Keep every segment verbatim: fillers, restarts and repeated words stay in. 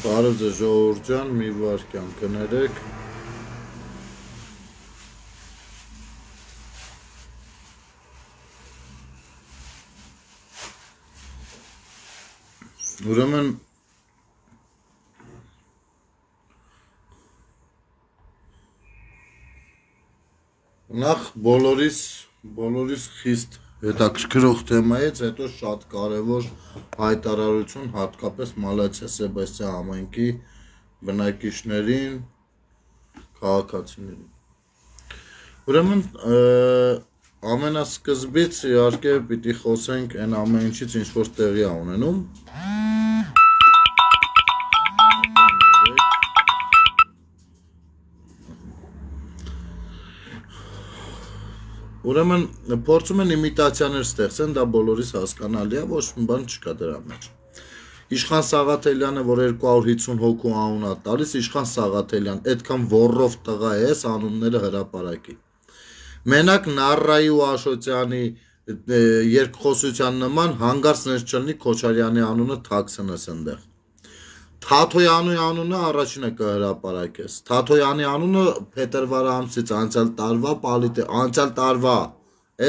Բարև ձեզ ժողովուրդ ջան, մի վայրկյան կներեք։ Ուրեմն նախ բոլորիս բոլորիս խիստ հետաքրքրող թեմայից, հետո շատ կարևոր հայտարարություն հատկապես Մալաթիա Սեբաստիան համայնքի բնակիչներին, քաղաքացիներին։ Ուրեմն ամենասկզբից իհարկե պիտի խոսենք այն ամեն ինչից, ինչ որ տեղի է ունենում։ Ուրեմն փորձում են իմիտացիաներ ստեղծեն, դա բոլորիս հասկանալի է, ոչ մի բան չկա դրա մեջ։ Իշխան Սաղաթելյանը, որ երկու հարյուր հիսուն հոգու անուն է տալիս, Իշխան Սաղաթելյան, այդքան ոռով տղա ես, անունները հրապարակի։ Մենակ Նառայի ու Աշոտյանի երկխոսության նման հանգարց ներչլնի Քոչարյանի անունը թաքցնես այնտեղ։ Թաթոյանի անունը առաջինը կհրապարակես։ Թաթոյանի անունը փետրվար ամսից անցյալ տարվա պալիտե, անցյալ տարվա,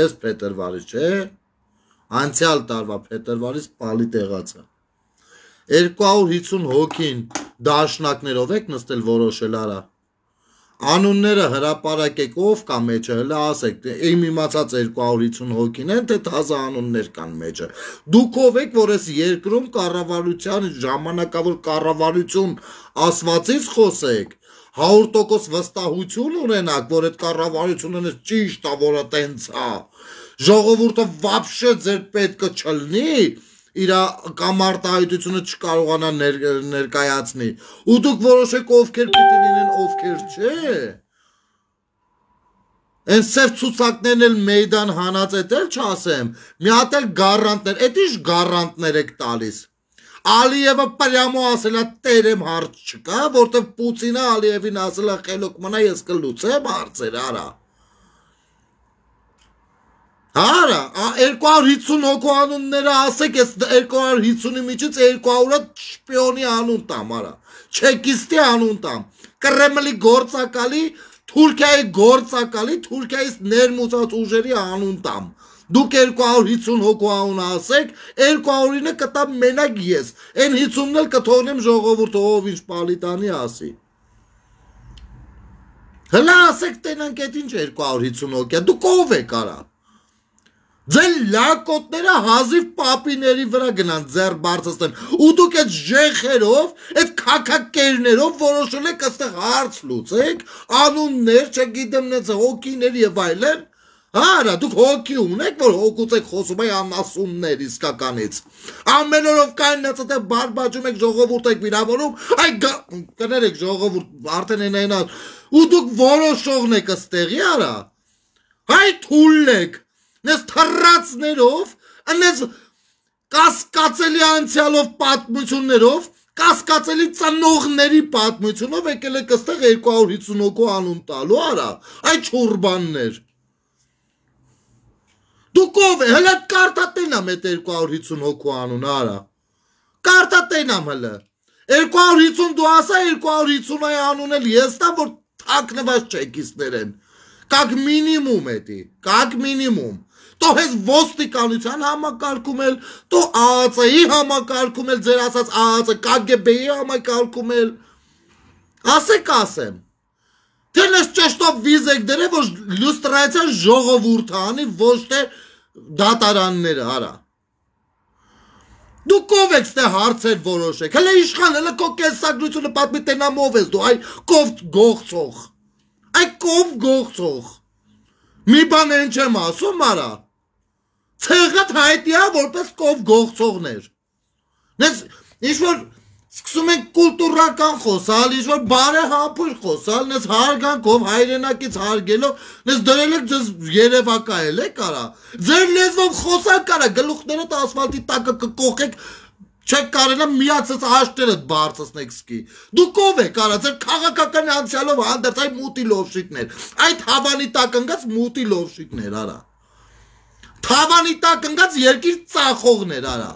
այս փետրվարից, չէ՞։ Անցյալ տարվա փետրվարից պալիտեղաց է։ երկու հարյուր հիսուն հոգին դաշնակներով եք նստել որոշել արա։ Անունները հրապարակեք, ով կա մեջը, հələ ասեք, իմ իմացած երկու հարյուր հիսուն հոգին են, թե թազա անուններ կան մեջը։ Դուք ով եք, որ այս երկրում կառավարության ժամանակավոր կառավարություն ասվածից խոսեք, հարյուր տոկոս վստահություն ունենաք, որ այդ կառավարությունը ճիշտ է, որը տենց է։ Ժողովուրդը վաբշե ձեր պետքը չլնի, իր կամարտահայտությունը չկարողանա ներկայացնի, ու դուք որոշեք ովքեր պիտի լինեն, ովքեր չէ։ Այն սև ցուցակներն էլ մեյդան հանած էդ էլ չասեմ, մի հատ էլ գարանտներ, էդ ինչ գարանտներ եք տալիս։ Ալիևը պրյամո ասել է տերեմ հարց չկա, որտեվ Պուտինը Ալիևին ասել է խելոք մնա, ես կլուծեմ հարցեր, արա։ Արա, երկու հարյուր հիսուն հոգու անունները ասեք, ես երկու հարյուր հիսունի միջից երկու հարյուրը շպիոնի անուն տամ, արա, չեկիստի անուն տամ, Կրեմլի գործակալի, Թուրքիայի գործակալի, Թուրքիայից ներմուծած ուժերի անուն տամ։ Դուք երկու հարյուր հիսուն հոգու անուն ասեք, երկու հարյուրինը կտամ մենակ ես, այն հիսունն էլ կթողնեմ ժողովուրդը ով ինչ պալիտանի ասի։ Հլա ասեք տենանք այդ ինչ երկու հարյուր հիսուն հոգի, դուք ով եք արա։ Ձեր լակոտները հազիվ պապիների վրա գնան ձեր բարձրացնեն, ու դուք այդ ժեխերով, այդ քաքակերներով որոշել եք այստեղ հարց լուծեք, անուններ, չգիտեմ նենց հոգիներ եւ այլն, արա դուք հոգի ունեք, որ հոգուց եք խոսում այ անասուններ իսկականից, ամեն օրով կային նենց այդեղ բարբաջում եք, ժողովուրդ եք վիրավորում, այ կներեք ժողովուրդ, արդեն են այնա, ու դուք որոշողն եք այստեղի, արա, այ թուլ եք, Նես թռածներով, նես կասկածելի անցյալով պատմություններով, կասկածելի ծնողների պատմությունով եկել եք այստեղ երկու հարյուր հիսուն հոգու անուն տալու, արա, այ չուրբաններ։ Դուք ով է, հլը կարտատենամ այդ երկու հարյուր հիսուն հոգու անուն, արա, կարտատենամ հլը, երկու հարյուր հիսուն դու ասա, երկու հարյուր հիսուն այ անուն էլ ես տա, որ թակնված չեկիստներ են, կակ մինիմում էտի, կակ մինիմում, Տո հեզ ոստիկանության համակարգում էլ, տո ԱԱՑ-ի համակարգում էլ, ձեր ասած ԱԱՑ, ԿԳԲ-ի համակարգում էլ, ասեք ասեմ, թե նես ճեշտով վիզ եք դրե, որ լյուստրացիան ժողովուրդ անի, ոչ թե դատարանները, արա։ Դուք ով եք ստե հարցեր որոշեք, հլը իշխան, հլը կո կեսագրությունը պատմի տենամ ով ես դու, այ կով գողցող, այ կով գողցող, մի բան են չեմ ասում, արա, Ցեղատ հայտի է որպես կով գողցողներ։ Նես ինչ-որ սկսում ենք կուլտուրական խոսալ, ինչ-որ բարեհամբույր խոսալ, նես հարգանքով, հայրենակից հարգելով, նես դրել եք ձեզ երևակայել եք արա։ Ձեր լեզվով խոսալ կարա, գլուխներդ ասֆալտի տակը կկոխեք, չեք կարելա միացած հաշտերդ բարձացնեք սկի։ Դուք ով եք արա, ձեր քաղաքական անցյալով հանդերձ այ մուտի լովշիկներ, այդ հավանի տակ ընկած մուտի լովշիկներ արա։ Թավանի տակ ընկած երկիր ծախողներ, արա։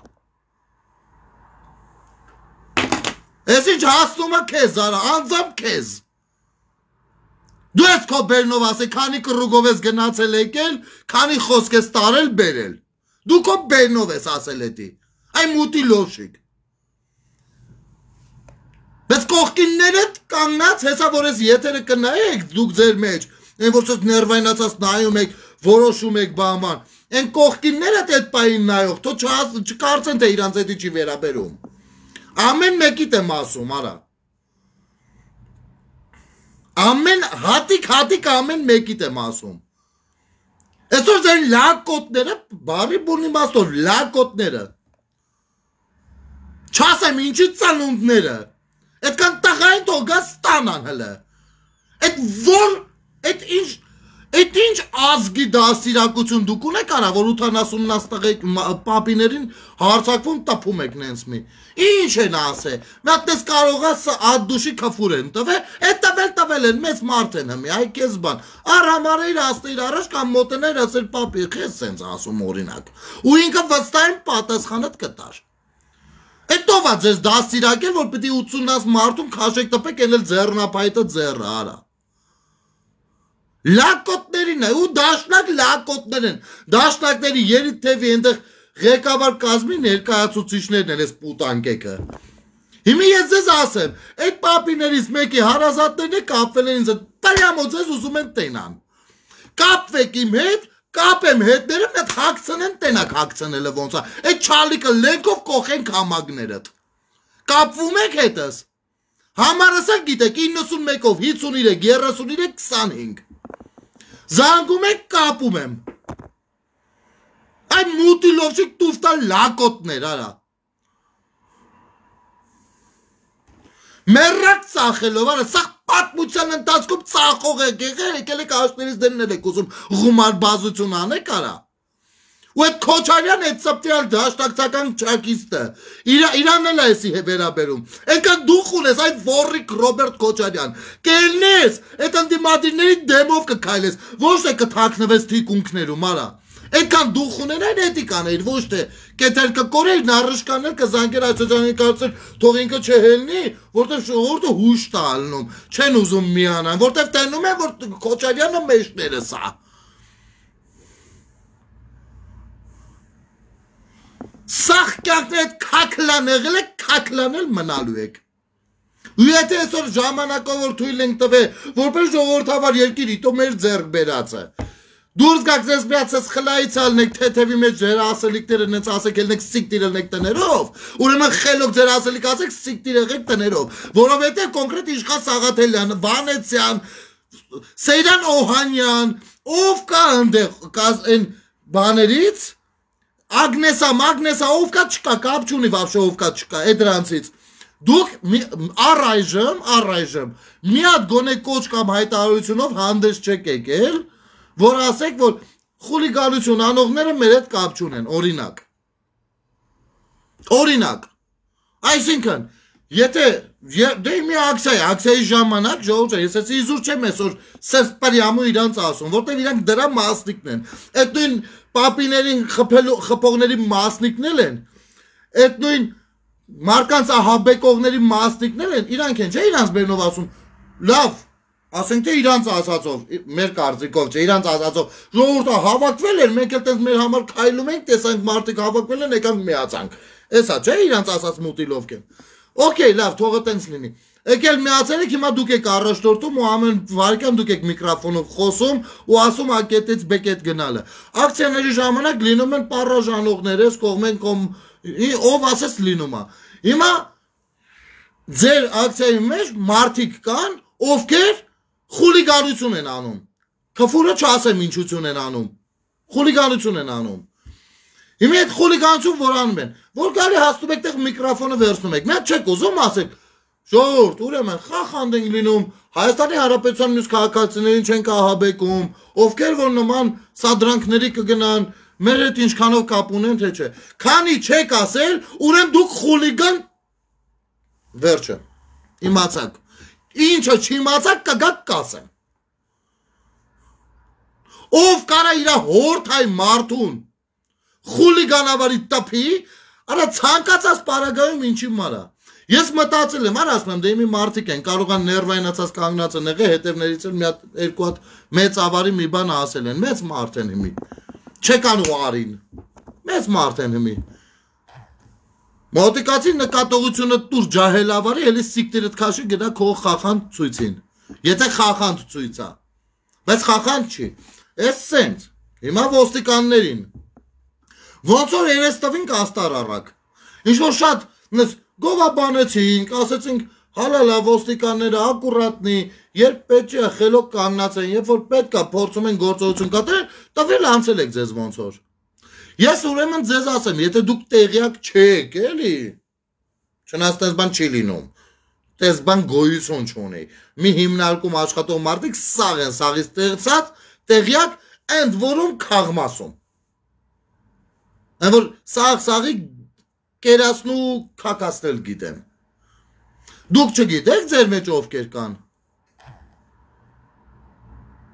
Ես ինչ հասնում է քեզ արա, անձամբ քեզ։ Դու ես քո բերնով ասել, քանի կռուգով ես գնացել եկել, քանի խոսք ես տարել բերել։ Դու քո բերնով ես ասել էդի։ Այ մուտի լոշիկ։ Բայց կողքիններդ կանգնած, հեսա որ ես եթերը կնայեք դուք ձեր մեջ, այն որ սոց ներվայնացած նայում եք, որոշում եք բաման, այն կողքիններդ այդ պային նայող, թո չկարծեն թե իրանց էդի չի վերաբերում։ Ամեն մեկիտ եմ ասում, արա։ Ամեն հատիկ-հատիկ ամեն մեկիտ եմ ասում։ Այսօր ձեր լակոտները, բարի բունի մաստոր, լակոտները։ Չասեմ ինչի ծանունդները։ Այդքան տղային թող գա ստանան հլը։ Այդ որ, այդ ինչ, այդ ինչ ազգի դաստիարակություն դուք ունեք արա, որ ութանասուննաց տղեկ պապիներին հարցակվում տպում եք նենց մի։ Ինչ են ասե, մի հատ ես կարող է ադդուշի քֆուր են տվել, այդ տվել տվել են, մեծ մարդ են հմի, այ կեզ բան, առ համարեիր աստեիր առաջ կամ մոտեներ ասել պապի, խես սենց ասում օրինակ, ու ինքը վստահեն պատասխանդ կտար։ Այդ ով է ձեզ դաստիարակել, որ պիտի ութսուննաց մարդում քաշեք տպեք, էլ ձեռնապայտը ձեռը արա։ Լակոտներին է, ու դաշնակ լակոտներ են, դաշնակների երիտ թևի ենտեղ ղեկավար կազմի ներկայացուցիչներն են ես պուտանկեկը։ Հիմի ես ձեզ ասեմ, այդ պապիներից մեկի հարազատներն է կապվել են ինձ, պայամոց ես ուզում են տենան։ Կապվեք իմ հետ, կապեմ հետները, մետ հակցնեն տենակ հակցնելը ոնց է, այդ չալիկը լենքով կոխենք համագներըտ։ Կապվում եք հետս։ Համարսակ գիտեք, իննսունմեկով, հինգսուններեք, երեսուններեք, քսանհինգ։ Զանգում եք կապում եմ։ Այն մուտի լովշիկ տուստան լակոտներ, արա։ Մերրակ ծախելով, արա, սաղ պատմության ընթացքում ծախող եք եղել, եկել եք աշներից դեններ եք ուզում գումար բազություն անեք, արա։ Ու այդ Քոչարյան այդ սպտիալ դաշնակցական չակիստը, իրանն էլ այսի վերաբերում, ենքան դուխ ունես, այդ վորիկ Ռոբերտ Քոչարյան, կելնես, այդ ընդիմադիրների դեմով կքայլես, ոչ թե կթակնվես թիկունքներում, արա, ենքան դուխ ունեն այն էտիկան էիր, ոչ թե կետեր կկորեիր, նարышկաներ կզանգեր այսոցյանի կարծել, թող ինքը չհելնի, որտև շողորդը հուշ տալնում, չեն ուզում միանան, որտև տենում են, որ Քոչարյանը մեջները սա։ Սաղ կյանքն այդ կակլան եղել եք, կակլան էլ մնալու եք։ Ու եթե այսօր ժամանակով որ թույլ ենք տվել, որպես ժողովրդավար երկիր իտո մեր ձեռք բերածը։ Դուրս գաք ձեզ միացած խլայից ալնեք, թեթևի մեջ ձեր ասելիքները նենց ասեք, ելնեք սիկտիր ելնեք տներով, ուրեմն խելոք ձեր ասելիք ասեք սիկտիր եղեք տներով, որովհետև կոնկրետ Իշխան Սաղաթելյան, Վանեցյան, Սեյրան Օհանյան, ով կա ընդեղ այն բաներից, Ագնեսա, Մագնեսա, ով կա չկա, կապ չունի վաբշե ով կա չկա, է դրանցից։ Դուք առայժմ, առայժմ, մի հատ գոնե կոչ կամ հայտարարությունով հանդես չեք եկել, որ ասեք, որ խուլիգանություն անողները մեր հետ կապ չունեն, օրինակ։ Օրինակ։ Այսինքն, եթե դե մի ակցիա է, ակցիայի ժամանակ ժողովուրդ, ես էս իզուր չեմ այսօր սրտպրյամու իրանց ասում, որտեղ իրանք դրա մասնիկն են։ Այդ նույն պապիներին խփողների մասնիկներ են, այդ նույն մարկանց ահաբեկողների մասնիկներ են, իրանք են, չէ իրանց բերնով ասում, լավ, ասենք թե իրանց ասածով, մեր կարծիքով չէ, իրանց ասածով, ժողովուրդը հավաքվել էր, մենք էլ տես մեր համար քայլում ենք, տեսանք մարդիկ հավաքվել են, եկանք միացանք, էսա չէ իրանց ասած մուտիլովք են, օքեյ, լավ, թողը տենց լինի, եկել միացել եք, հիմա դուք եք առաջնորդում ու ամեն վարկյան դուք եք միկրոֆոնով խոսում ու ասում ակետից բեկետ գնալը, ակցիաների ժամանակ լինում են պարաժանողներ, ես կողմեն կոմ, ով ասես լինում է, հիմա ձեր ակցիայի մեջ մարդիկ կան, ովքեր խուլիգանություն են անում, քֆուրը չասեմ ինչություն են անում, խուլիգանություն են անում, հիմա այդ խուլիգանություն որ անում են, որ գալի հասնում եք տեղ միկրոֆոնը վերցնում եք, մեկ չեք ուզում ասեք, ժողովուրդ, ուրեմն խախանդ ենք լինում, Հայաստանի Հանրապետության մյուս քաղաքացիներին չենք ահաբեկում, ովքեր որ նման սադրանքների կգնան, մեր հետ ինչքանով կապ ունեն, թե չէ, քանի չեք ասել, ուրեմն դուք խուլիգան, վերջը, իմացաք, ինչը չիմացաք կգաք կասեմ, ով կարա իրա հորթայ մարդուն, խուլիգանավարի տպի, արա ցանկացած պարագայում ինչի մարա, Ես մտածել եմ, ասում եմ, դե մի մարդիկ են, կարող են ներվայնացած կանգնած են եղել, հետևներից էլ մի հատ երկու հատ մեծ ավարի մի բան ասել են, մեծ մարդ են հիմի։ Չեկան ու արին։ Մեծ մարդ են հիմի։ Մոտիկացի նկատողությունը տուր ջահելավարի, էլի սիկտիրդ քաշի գնա քո խախանդ ցույցին։ Եթե խախանդ ցույց է։ Բայց խախանդ չի։ Էս սենց։ Հիմա ոստիկաններին։ Ոնց որ երես տվին կաստար առակ։ Ինչ որ շատ գովաբանեցինք, ասեցինք հալալա ոստիկանները ակուրատնի, երբ պետք է խելոք կանգնած են, երբ որ պետք է փորձում են գործողություն կատարել, տվել անցել եք ձեզ ոնց որ։ Ես ուրեմն ձեզ ասեմ, եթե դուք տեղյակ չեք, էլի, չնայած տես բան չի լինում, տես բան գոյություն չունի, մի հիմնարկում աշխատող մարդիկ սաղ են, սաղից տեղցած, տեղյակ, ընդ որում քաղմասում, ընդ որ սաղ սաղի կերասնու կակասնել գիտեն, դուք չգիտեք ձեր մեջ ովքեր կան,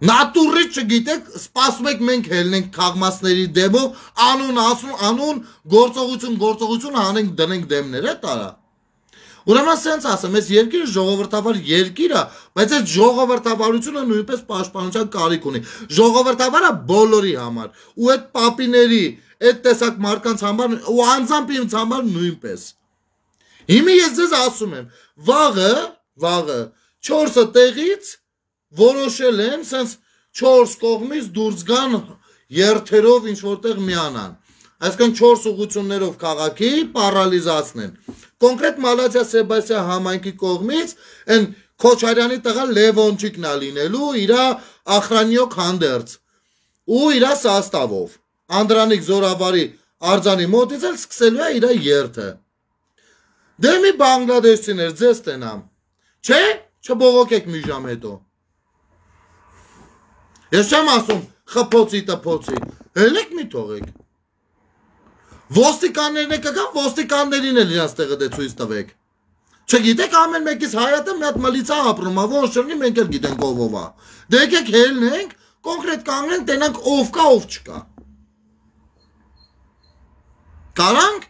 Նատուրից չգիտեք, սպասում եք մենք հելնենք քաղմասների դեմով, անուն ասում, անուն, գործողություն, գործողություն հանենք դնենք դեմներ է տարա։ Ուրեմն սենց ասեմ, ես երկիրը ժողովրդավար երկիր է, բայց այս ժողովրդավարությունը նույնպես պաշտպանության կարիք ունի։ Ժողովրդավարը բոլորի համար, ու այդ պապիների, այդ տեսակ մարդկանց համար, ու անձամբ ինձ համար նույնպես։ Հիմա ես ձեզ ասում եմ, վաղը, վաղը, չորսը տեղից որոշել են, սենց չորս կողմից դուրս գան երթերով ինչ որտեղ միանան, այսքան չորս ուղություններով քաղաքի պարալիզացնեն, կոնկրետ Մալաթիա Սեբաստիա համայնքի կողմից են Քոչարյանի տղա Լևոնչիկն է լինելու իրա ախրանյոկ հանդերձ ու իրա սաստավով, Անդրանիկ Զորավարի արձանի մոտից էլ սկսելու է իրա երթը, դե մի բանգլադեշցիներ ձեզ տենամ, չէ, չբողոքեք մի ժամ հետո Ես չեմ ասում խփոցի տփոցի, հելեք մի թողեք։ Ոստիկաններն եք կգան, ոստիկաններին էլ իրաց տեղը դե ցույց տվեք։ Չգիտեք ամեն մեկից հայատը մի հատ մլիցա ապրում է, ոնց չլինի մենք էլ գիտենք ով ով է։ Դե եկեք հելնենք, կոնկրետ կանգնենք, տենանք ով կա, ով չկա։ Կարանք։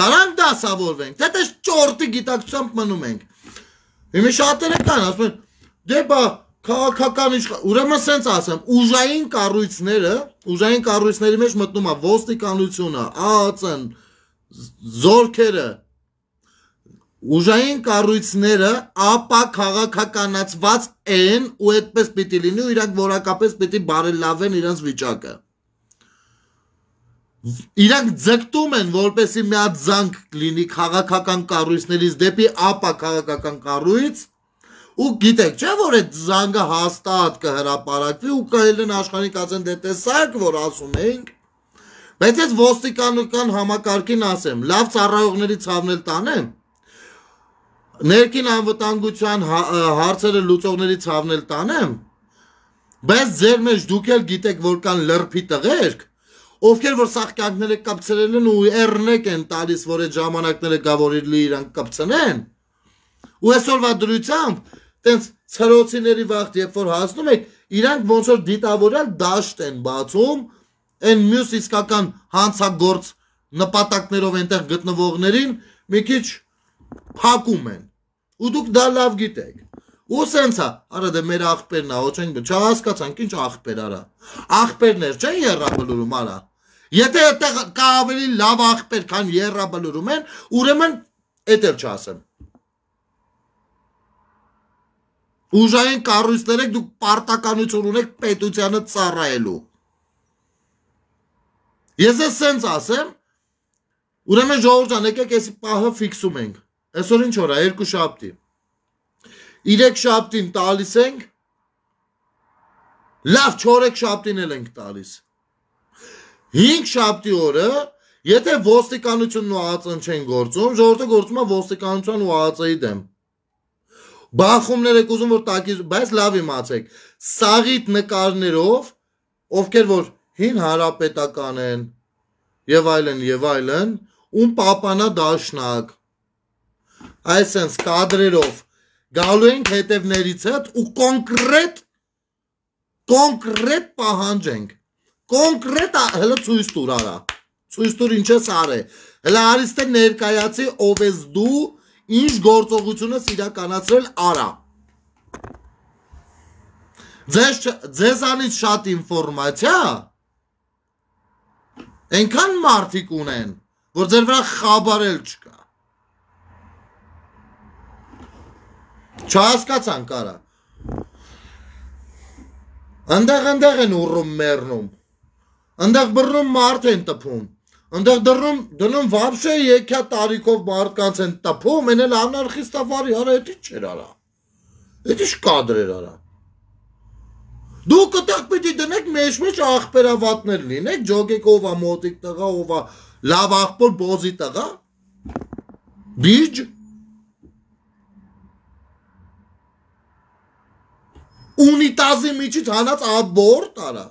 Կարանք դասավորվենք, թե դες ճորտի գիտակցությամբ մնում ենք։ Հիմա շատերը կան, ասում են, դե բա Քաղաքական իշխան, ուրեմն սենց ասեմ, ուժային կառույցները, ուժային կառույցների մեջ մտնում է ոստիկանությունը, ԱԱԾ-ն, զորքերը, ուժային կառույցները ապա քաղաքականացված են ու այդպես պիտի լինի ու իրանք որակապես պիտի բարելավեն իրենց վիճակը։ Իրանք ձգտում են, որպեսզի մի հատ զանգ լինի քաղաքական կառույցներից դեպի ապա քաղաքական կառույց ու գիտեք, չէ՞ որ այդ զանգը հաստատ կհրապարակվի ու կհելեն աշխարհին կացեն դե տեսակ, որ ասում ենք, բայց այս ոստիկանական համակարգին ասեմ, լավ ծառայողների ցավնել տանեմ, ներքին անվտանգության հարցերը լուծողների ցավնել տանեմ, բայց ձեր մեջ դուք էլ գիտեք, որ կան լրփի տղերք, ովքեր որ սաղկյանքները կապցրել են ու էռնեք են տալիս, որ այդ ժամանակները գա որ իրանք կապցնեն, ու այսօրվա դրությամբ տենց ցրոցիների վաղտ, երբ որ հասնում եք, իրանք ոնց որ դիտավորյալ դաշտ են բացում, են մյուս իսկական հանցագործ նպատակներով այնտեղ գտնվողներին մի քիչ փակում են, ու դուք դա լավ գիտեք, ու սենց է, արա դե մեր աղբերն է, ոչ ենք, չհասկացանք ինչ աղբեր արա, աղբերներ չեն եռաբլուրում արա, եթե այդտեղ կա ավելի լավ աղբեր, քան եռաբլուրում են, ուրեմն էդ էլ չասեմ, Ուժային կառույցներ եք, դուք պարտականություն ունեք պետությանը ծառայելու։ Ես ես սենց ասեմ, ուրեմն ժողովուրդ ջան, եկեք էսի պահը ֆիքսում ենք։ Այսօր ինչ օր է, երկու շաբթի։ Երեք շաբթին տալիս ենք, լավ չորեք շաբթին էլ ենք տալիս։ Հինգ շաբթի օրը, եթե ոստիկանությունն ու ԱԱԾ-ն չեն գործում, ժողովուրդը գործում է ոստիկանության ու ԱԱԾ-ի դեմ։ Բախումներ եք ուզում, որ տակից, բայց լավ իմացեք, սաղիթ նկարներով, ովքեր որ հին հարապետական են, եւ այլն, եւ այլն, ում պապանա դաշնակ, այսենց կադրերով, գալու ենք հետևներից հետ ու կոնկրետ, կոնկրետ պահանջենք, կոնկրետ հելը ցույց տուր արա, ցույց տուր ինչ ես արե, Հələ արիստե ներկայացի ով ես դու, ինչ գործողությունը իրականացրել արա։ Ձեզանից շատ ինֆորմացիա այնքան մարդիկ ունեն, որ ձեր վրա խաբարել չկա։ Չհասկացանք արա։ Անդեղ անդեղ են ուռում մեռնում։ Անդեղ բռնում մարդ են տպում։ Անդեղ դռնում դնում վաբշե եկյա տարիքով մարդկանց են տպում, են էլ անարխիստավարի, արա էդի չեր արա։ Էդի շկադրեր արա։ Դուք այդտեղ պիտի դնեք մեջ-մեջ աղբերավատներ լինեք, ջոգեք ով է մոտիկ տղա, ով է լավ աղբոր բոզի տղա։ Բիջ։ Ունիտազի միջից հանած աբորտ արա։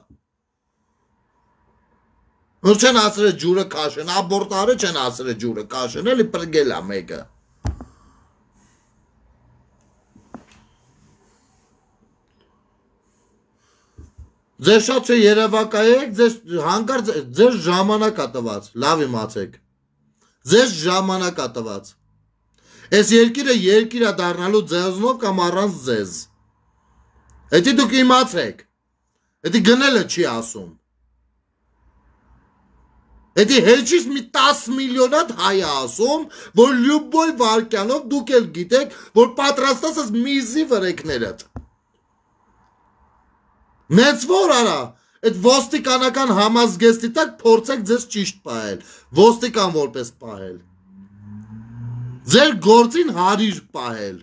Որ չեն ասրել ջուրը կաշեն, աբորտ արը չեն ասրել ջուրը կաշեն, էլի պրգել է մեկը։ Ձեր շատ չէ երևակայեք, հանկարծ ձեր ժամանակ ա տված, լավ իմացեք, ձեր ժամանակ ա տված, ես երկիրը երկիր ա դառնալու ձեզնով կամ առանց ձեզ, էդի դուք իմացեք, էդի գնելը չի ասում, էդի հեչից մի տաս միլիոնատ հայ է ասում, որ լյուբոյ վարկյանով դուք էլ գիտեք, որ պատրաստած ես միզի վրեքներըդ, Մեծ որ արա, այդ ոստիկանական համազգեստի տակ փորձեք ձեզ ճիշտ պահել, ոստիկան որպես պահել, ձեր գործին հարիր պահել,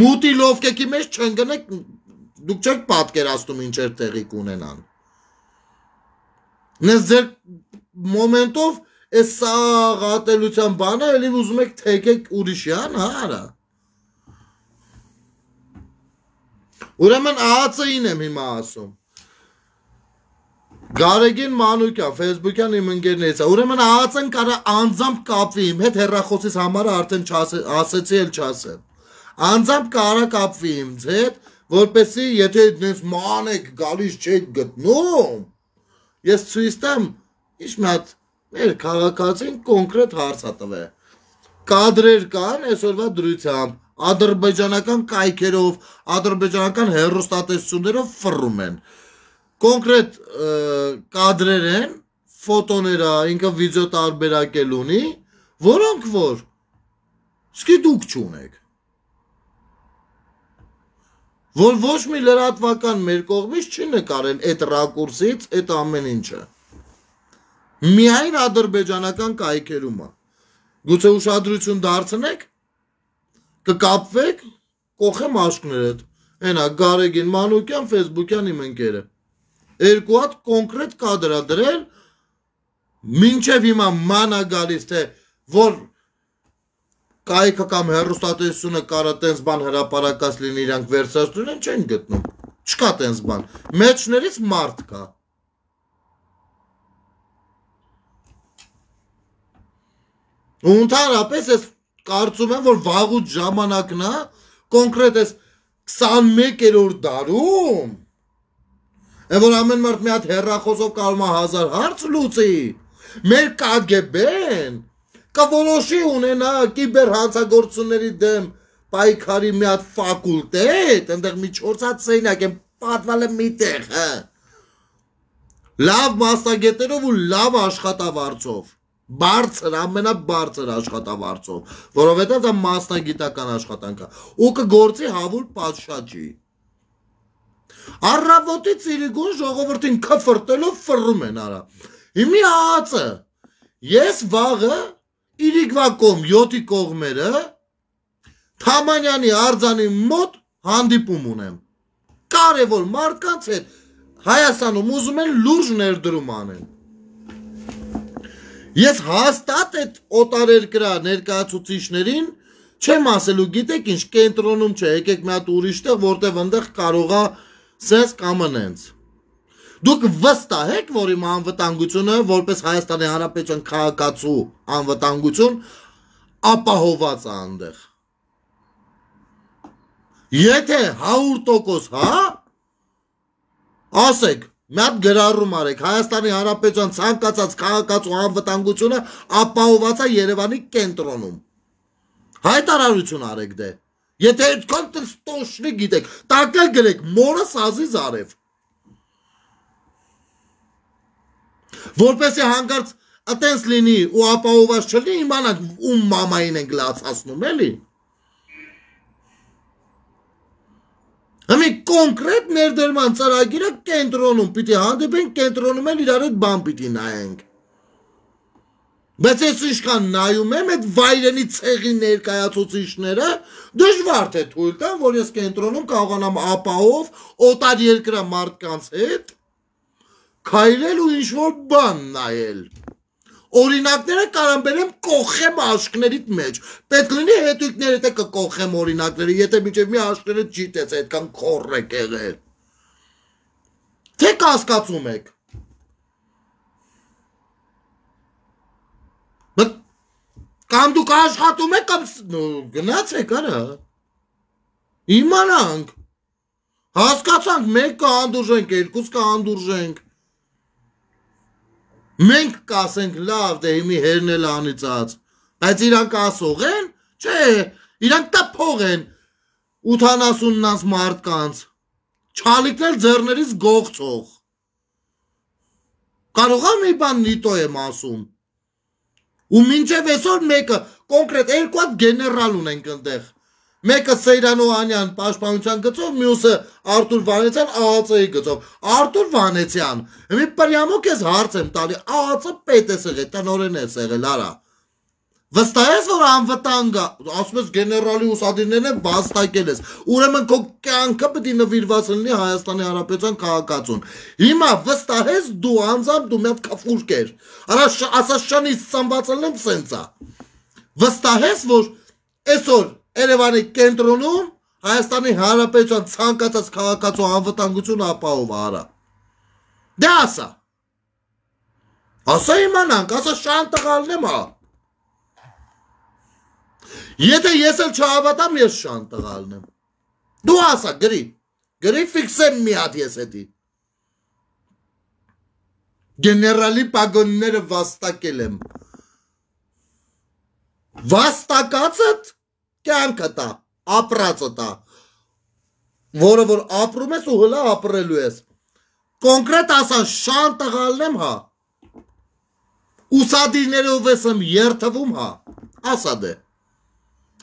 մուտի լովկեկի մեջ չընկնեք, դուք չեք պատկերացնում ինչեր տեղի կունենան, նես ձեր մոմենտով այս սաղատելության բանը էլի ուզում եք թեկեք ուրիշյան, հա արա, ուրեմն ԱԱՑ-ին եմ հիմա ասում, Գարեգին Մանուկյան, Facebook-յան իմ ընկերներից է, ուրեմն ԱԱՑ-ն կարա անձամբ կապվի, իմ հետ հեռախոսից համարը արդեն ասեցի էլ չասեմ, անձամբ կարա կապվի իմ հետ, որպեսի եթե դες ման եք գալիս չեք գտնում, ես ցույց տամ, ինչ մի հատ մեր քաղաքացին կոնկրետ հարց ա տվել, կադրեր կան այսօրվա դրությամբ, ադրբեջանական կայքերով, ադրբեջանական հեռուստատեսություններով ֆռում են, կոնկրետ կադրեր են, ֆոտոներ ա, ինքը վիդեո տարբերակել ունի, որոնք որ սկի դուք չունեք, որ ոչ մի լրատվական մեր կողմից չի նկարել այդ ռակուրսից, այդ ամեն ինչը, միայն ադրբեջանական կայքերում ա, գուցե ուշադրություն դարձնեք, կկապվեք, կողեմ աշկներդ, ենա Գարեգին Մանուկյան, Facebook-յան իմ ընկերը, երկու հատ կոնկրետ կադր ա դրել, մինչև հիմա ման ա գալիս, թե որ կայքը կամ հեռուստատեսությունը կարա տենց բան հրապարակած լինի իրանք վերցածություն են, չեն գտնում, չկա տենց բան, մեջներից մարդ կա, ու ընդհանրապես ես կարծում եմ, որ վաղուց ժամանակն ա, կոնկրետ ես քսանմեկերորդ դարում, Է որ ամեն մարդ մի հատ հեռախոսով կարող է հազար հարց լուծի, մեր կագեբեն, կա որոշի ունենա կիբեր հանցագործությունների դեմ պայքարի մի հատ ֆակուլտետ, ընդեղ մի չորս հատ սենյակ են պատվալ է մի տեղ, հա, լավ մասնագետերով ու լավ աշխատավարձով, բարձր, ամենաբարձր աշխատավարձով, որովհետև դա մասնագիտական աշխատանք է, ու կգործի հավուր պատշաճի, Առավոտի ծիրիգուն ժողովրդին քֆրտելով ֆռում են արա, հիմի ԱԱՑ-ը, ես վաղը իրիկվա կողմ յոթի կողմերը, Թամանյանի արձանի մոտ հանդիպում ունեմ, կարևոր մարդկանց հետ Հայաստանում ուզում են լուրջ ներդրում անեն, ես հաստատ այդ օտարերկրյա ներկայացուցիչներին չեմ ասելու, գիտեք ինչ, կենտրոնում չէ, եկեք մի հատ ուրիշ տեղ, որտեղ ընդեղ կարող է սենց կամ ընենց, դուք վստահ եք, որ իմ անվտանգությունը, որպես Հայաստանի Հանրապետության քաղաքացու անվտանգություն, ապահոված է այնտեղ, եթե հարյուր տոկոս հա, ասեք, մի հատ գրառում արեք, Հայաստանի Հանրապետության ցանկացած քաղաքացու անվտանգությունը ապահովված է Երևանի կենտրոնում։ Հայտարարություն արեք դե։ Եթե այդքան տոշնի գիտեք, տակել գրեք մորը սազի զարև։ Որպեսի հանկարծ այտենց լինի ու ապահովված չլինի, իմանանք ում մամային ենք լացացնում, էլի։ Համի կոնկրետ ներդրման ծրագիրը կենտրոնում պիտի հանդիպենք, կենտրոնում էլ իրար հետ բան պիտի նայենք։ Բայց ես ինչքան նայում եմ այդ վայրենի ցեղի ներկայացուցիչները դժվար թե թույլ տան, որ ես կենտրոնում կարողանամ ապահով օտար երկրա մարդկանց հետ քայլել ու ինչ-որ բան նայել։ Օրինակները կարամ բերեմ կողեմ աշկներիդ մեջ, պետք լինի հետույքներդ է կկողեմ օրինակները, եթե միջև մի աշկները չիտեց այդքան քոր եք եղել։ Թե կասկածում եք։ Կամ դուք աշխատում եք, կամ գնացեք, արա։ Իմանանք։ Հասկացանք, մեկ կհանդուրժենք, երկուս կհանդուրժենք։ Մենք կասենք լավ, դե հիմի հերնել անիծած, բայց իրանք ասող են, չէ, իրանք տա փող են ութանասուննանց մարդկանց, չալիքնել ձեռներից գողցող, կարող է մի բան նիտո եմ ասում, ու մինչև այսօր մեկը, կոնկրետ երկու հատ գեներալ ունենք ընդեղ, մեկը Սեյրան Օհանյան պաշտպանության գծով, մյուսը Արտուր Վանեցյան ԱԱՑ-ի գծով։ Արտուր Վանեցյան, մի պրյամոք ես հարց եմ տալի, ԱԱՑ պետ ես եղել, տնօրեն ես եղել, արա։ Վստահ ես, որ անվտանգ է, ասում ես գեներալի ուսադիրներն են վաստակել ես, ուրեմն քո կյանքը պետք է նվիրված լինի Հայաստանի Հանրապետության քաղաքացուն։ Հիմա վստահ ես դու անձամբ դու մի հատ քֆուրկ ես, արա ասած շանից ծնված եմ սենցա։ Վստահ ես, որ այսօր Երևանի կենտրոնում Հայաստանի Հանրապետության ցանկացած քաղաքացու անվտանգություն ապահով արա։ Դե ասա։ Ասա իմանանք, ասա շան տղալն եմ հա։ Եթե ես էլ չհավատամ, ես շան տղալն եմ։ Դու ասա, գրի, գրի ֆիքսեմ մի հատ ես հետի։ Գեներալի պագոնները վաստակել եմ։ Վաստակածդ կյանքը տա, ապրածը տա, որը որ ապրում ես ու հլա ապրելու ես, կոնկրետ ասան շան տղալն եմ հա, ուսադիրներով ես եմ երթվում հա, ասա դե,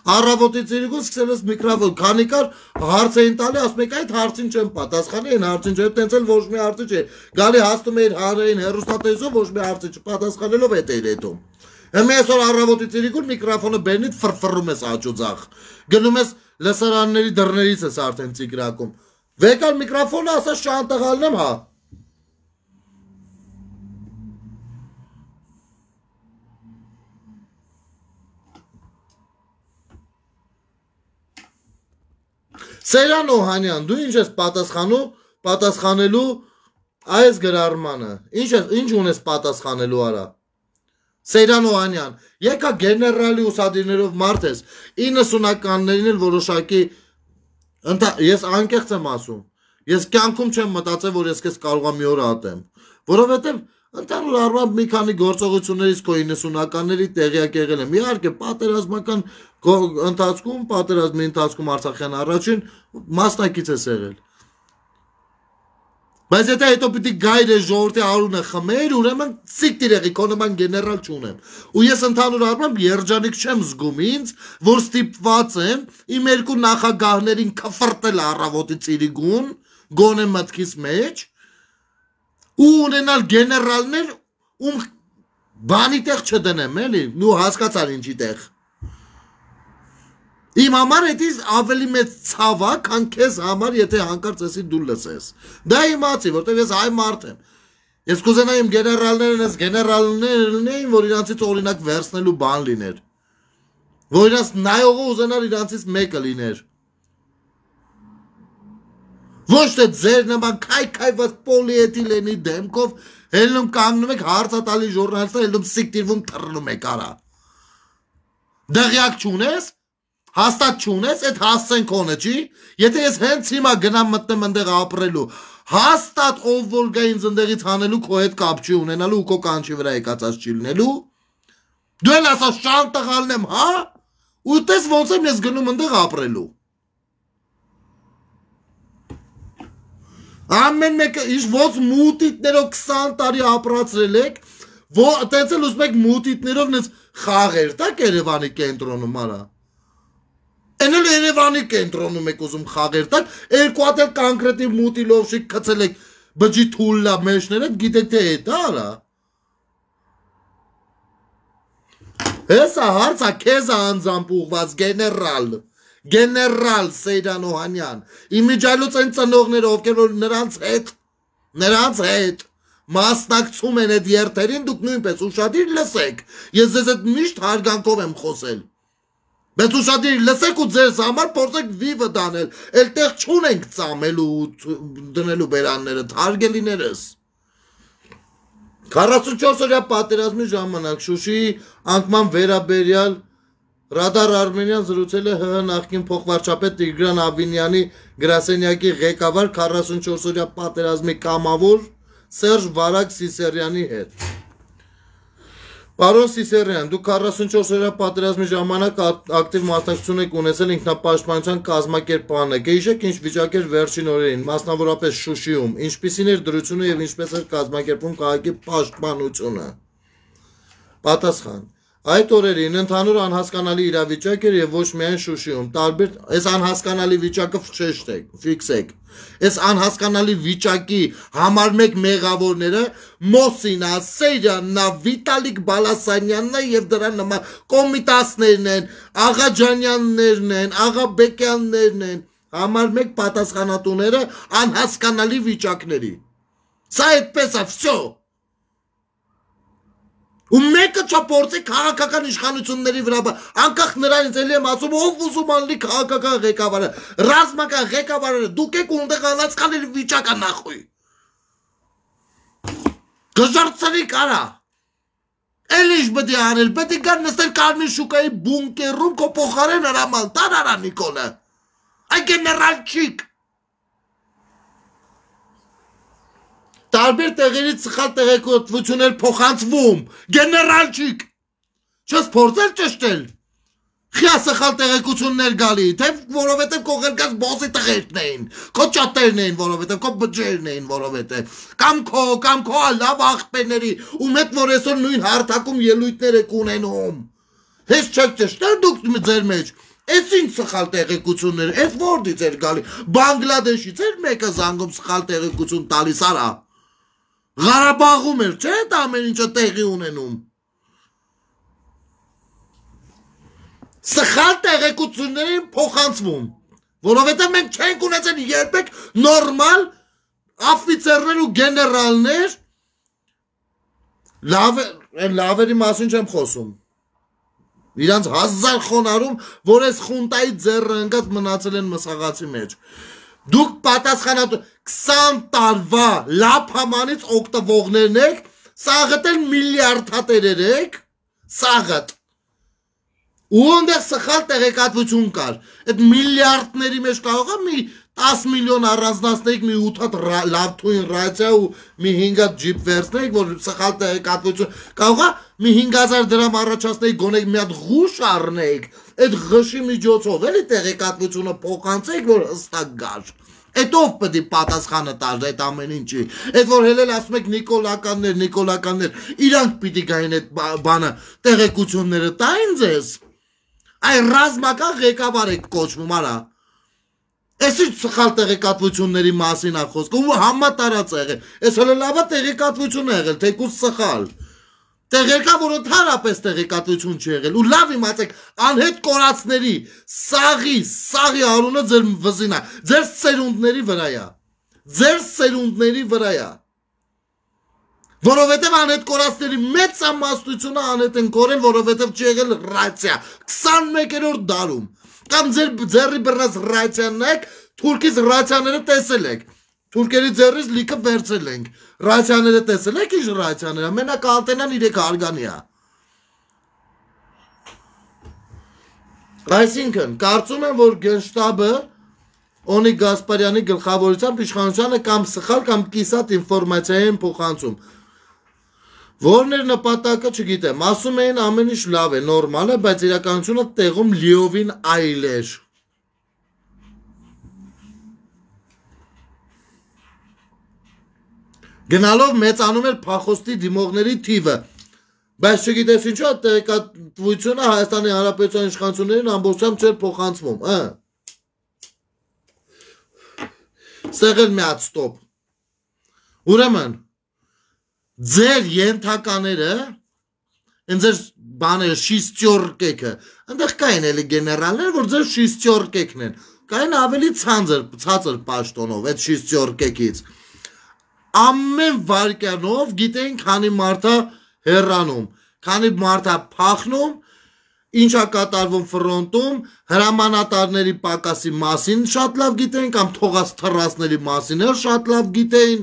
առավոտից իրիկուն սկսել ես միկրոֆոն, քանի կար հարց էին տալի, ասում եք այդ հարցին չեմ պատասխանի, են հարցին չեմ, տենց էլ ոչ մի հարցի չէ, գալի հաստում էիր հանրային հեռուստատեսով, ոչ մի հարցի չպատասխանելով հետ էիր հետում։ Հիմա այսօր առավոտից իրիկուն միկրոֆոնը բերնից ֆրֆռում ես աճուձախ, գնում ես լսարանների դռներից ես արդեն ծիգրակում, վեկալ միկրոֆոնը ասա շան տղալն եմ հա։ Սեյրան Օհանյան, դու ինչ ես պատասխանու, պատասխանելու այս գրառմանը, ինչ ունես պատասխանելու արա։ Սեյրան Օհանյան, եկա գեներալի ուսադիրներով մարդ ես, իննսունականներին էլ որոշակի, ես անկեղծ եմ ասում, ես կյանքում չեմ մտածել, որ ես կեզ կարող եմ մի օր ատեմ, որովհետև ընդհանուր առմամբ մի քանի գործողություններից քո իննսունականների տեղյակ եղել եմ, իհարկե պատերազմական ընթացքում, պատերազմի ընթացքում Արցախյան առաջին մասնակից ես եղել։ Բայց եթե հետո պիտի գայր է ժողովրդի արունը խմեր, ուրեմն սիկտիր եղի, քո նման գեներալ չունեմ։ Ու ես ընդհանուր առմամբ երջանիկ չեմ զգում ինձ, որ ստիպված եմ իմ երկու նախագահներին քֆրտել առավոտից իրիկուն, գոնե մտքիս մեջ, ու ունենալ գեներալներ, ում բանի տեղ չդնեմ, էլի, ու հասկացար ինչի տեղ։ Իմ համար հետից ավելի մեծ ցավա, քան քեզ համար, եթե հանկարծ էսի դու լսես։ Դա իմացի, որտեղ ես այ մարդ եմ։ Ես կուզենայիմ գեներալներն ես գեներալներ լինեին, որ իրանցից օրինակ վերցնելու բան լիներ։ Որ իրանց նայողը ուզենար իրանցից մեկը լիներ։ Ոչ թե ձեր նման քայքայված պոլիետիլենի դեմքով հելնում կանգնում եք հարցատալի ժուրնալիստը, հելնում սիկտիրվում թռնում եք արա։ Դղյակ չունես, հաստատ չունես, այդ հասցեն քոնը չի, եթե ես հենց հիմա գնամ մտնեմ ընդեղ ապրելու, Հաստատ ով որ գա ինձ ընդեղից հանելու քո հետ կապ չի ունենալու ու քո կանչի վրա եկածած չի լինելու։ Դու էլ ասա շան տղալն եմ, հա։ Ու տես ոնց եմ ես գնում ընդեղ ապրելու։ Ամեն մեկը իշ ոնց մուտիտներով քսան տարի ապրացրել եք, տենց էլ ուզում եք մուտիտներով նենց խաղեր տակ Երևանի կենտրոնում արա։ Են էլ Երևանի կենտրոնում եք ուզում խաղեր տակ, երկու հատ էլ կոնկրետի մուտի լովշիկ գցել եք բջի թուլլա մեջները, գիտեք թե էդ արա։ Հեսա հարցա քեզ անձամբ ուղված գեներալ, գեներալ Սեյրան Օհանյան, իմիջայլուց են ծնողները, ովքեր որ նրանց հետ, նրանց հետ մասնակցում են այդ երթերին, դուք նույնպես ուշադիր լսեք, ես ձեզ այդ միշտ հարգանքով եմ խոսել, բայց ուշադիր լսեք ու ձեզ համար փորձեք վիվը դանել, էլ տեղ չունենք ծամելու դնելու բերանները, հարգելիներս։ քառասունչորս օրյա պատերազմի ժամանակ Շուշիի անկման վերաբերյալ Ռադար Արմենիան զրուցել է ՀՀ նախկին փոխվարչապետ Տիգրան Աբինյանի գրասենյակի ղեկավար քառասունչորս օրյա պատերազմի կամավոր Սերժ Վարագ Սիսերյանի հետ։ Պարոն Սիսերյան, դուք քառասունչորս օրյա պատերազմի ժամանակ ակտիվ մասնակցություն եք ունեցել ինքնապաշտպանության կազմակերպման եք։ Հիշեք ինչ վիճակ էր վերջին օրերին, մասնավորապես Շուշիում, ինչպիսին էր դրությունը եւ ինչպես էր կազմակերպում քաղաքի պաշտպանությունը։ Պատասխան. Այդ օրերին ընդհանուր անհասկանալի իրավիճակ էր եւ ոչ միայն Շուշիում, տարբեր այս անհասկանալի վիճակը ֆշեշտեք, ֆիքսեք։ Այս անհասկանալի վիճակի համար մեկ մեղավորները Մոսինա, Սեյրաննա, Վիտալիկ Բալասանյանն եւ դրա նման կոմիտասներն են, Աղաջանյաններն են, Աղաբեկյաններն են, համար մեկ պատասխանատուները անհասկանալի վիճակների։ Սա այդպես է, վсё։ Ու մեկը չփորձի քաղաքական իշխանությունների վրա, անկախ նրանից էլի եմ ասում, ով ուզում ալի քաղաքական ղեկավարը, ռազմական ղեկավարը, դուք եք ունդեղ անհասկանալի վիճակա նախույ։ Գժարցրի կարա։ Էլ ինչ պետք է անել, պետք է գար նստել Կարմիր շուկայի բունկերում քո փոխարեն հրաման տար արա Նիկոլը։ Այ գեներալչիկ։ Տարբեր տեղերից սխալ տեղեկատվություններ փոխանցվում, գեներալչիկ, չես փորձել ճշտել, խիա սխալ տեղեկություններ գալի, թե որովհետև քո ղերգած բոսի տղերքն էին, քո ճատերն էին, որովհետև քո բջերն էին, որովհետև, կամ քո, կամ քո լավ աղբերների, ու մեկ որ այսօր նույն հարթակում ելույթներ եք ունենում, հես չեք ճշտել դուք ձեր մեջ, այս ինչ սխալ տեղեկություններ, այս որտից էր գալի, Բանգլադեշից էր մեկը զանգում սխալ տեղեկություն տալիս արա։ Ղարաբաղում էր, չէ՞ դա ամեն ինչը տեղի ունենում։ Սխալ տեղեկություններին փոխանցվում, որովհետև մենք չենք ունեցել երբեք նորմալ աֆիցերներ ու գեներալներ, լավերի մասին չեմ խոսում։ Իրանց հազար խոնարհում, որ այս խունտայի ձեռը ընկած մնացել են մսաղացի մեջ։ Դուք պատասխանատու քսան տարվա լափամանից օգտվողներն եք, սաղըտ էլ միլիարդատերեր եք, սաղըտ։ Ու ընդեղ սխալ տեղեկատվություն կար, այդ միլիարդների մեջ կարող է մի տասը միլիոն առանձնացնեիք, մի ութ հատ լավ թույն ռացիա ու մի հինգ հատ ջիպ վերցնեիք, որ սխալ տեղեկատվություն, կարող է մի հինգ հազար դրամ առաջացնեիք, գոնեք մի հատ ղուշ առնեիք, այդ ղշի միջոցով էլի տեղեկատվությունը փոխանցեիք, որ հստակ գար։ Այդ ով պետք է պատասխանը տար այդ ամեն ինչի։ Այդ որ հելել ասում եք նիկոլականներ, նիկոլականներ, իրանք պիտի գային այդ բանը տեղեկությունները տային ձեզ։ Այ ռազմական ղեկավար եք կոչվում, արա։ Այս ինչ սխալ տեղեկատվությունների մասին է խոսքը, ու համատարած է եղել։ Այս հələ լավա տեղեկատվություն է եղել, թեկուզ սխալ։ Տեղերկա, որ ընդհանրապես տեղեկատվություն չի եղել, ու լավ իմացեք, անհետ կորածների, սաղի, սաղի արունը ձեր վզին է, ձեր սերունդների վրա է, ձեր սերունդների վրա է, որովհետև անհետ կորածների մեծ ամաստությունը անհետ են կորել, որովհետև չի եղել ռացիա, քսանմեկերորդ դարում, կամ ձեր ձեռի բռնած ռացիանն եք, թուրքից ռացիաները տեսել եք, թուրքերի ձեռից լիքը վերցել ենք, ռացիաները տեսել եք ինչ ռացիաները, մենակ ալտենան իրեք արգանի է։ Այսինքն, կարծում եմ, որ գենշտաբը, Օնիկ Գասպարյանի գլխավորությամբ իշխանությանը կամ սխալ կամ կիսատ ինֆորմացիա են փոխանցում։ Որն էր նպատակը չգիտեմ, ասում էին ամեն ինչ լավ է, նորմալ է, բայց իրականությունը տեղում լիովին այլ էր։ Գնալով մեծանում էր փախոստի դիմողների թիվը, բայց չգիտես ինչու տեղեկատվությունը Հայաստանի Հանրապետության իշխանություններին ամբողջությամբ չէր փոխանցվում, հա։ Ստեղ էլ մի հատ ստոպ։ Ուրեմն ձեր ենթակաները, են ձեր բաները շիստյորկեքը, ընդեղ կային էլի գեներալներ, որ ձեր շիստյորկեքն են, կային ավելի ցածր, ցածր պաշտոնով այդ շիստյորկեքից։ Ամեն վարկյանով գիտեին քանի մարդա հեռանում, քանի մարդա փախնում, ինչա կատարվում ֆրոնտում, հրամանատարների պակասի մասին շատ լավ գիտեին կամ թողած թռածների մասին էլ շատ լավ գիտեին։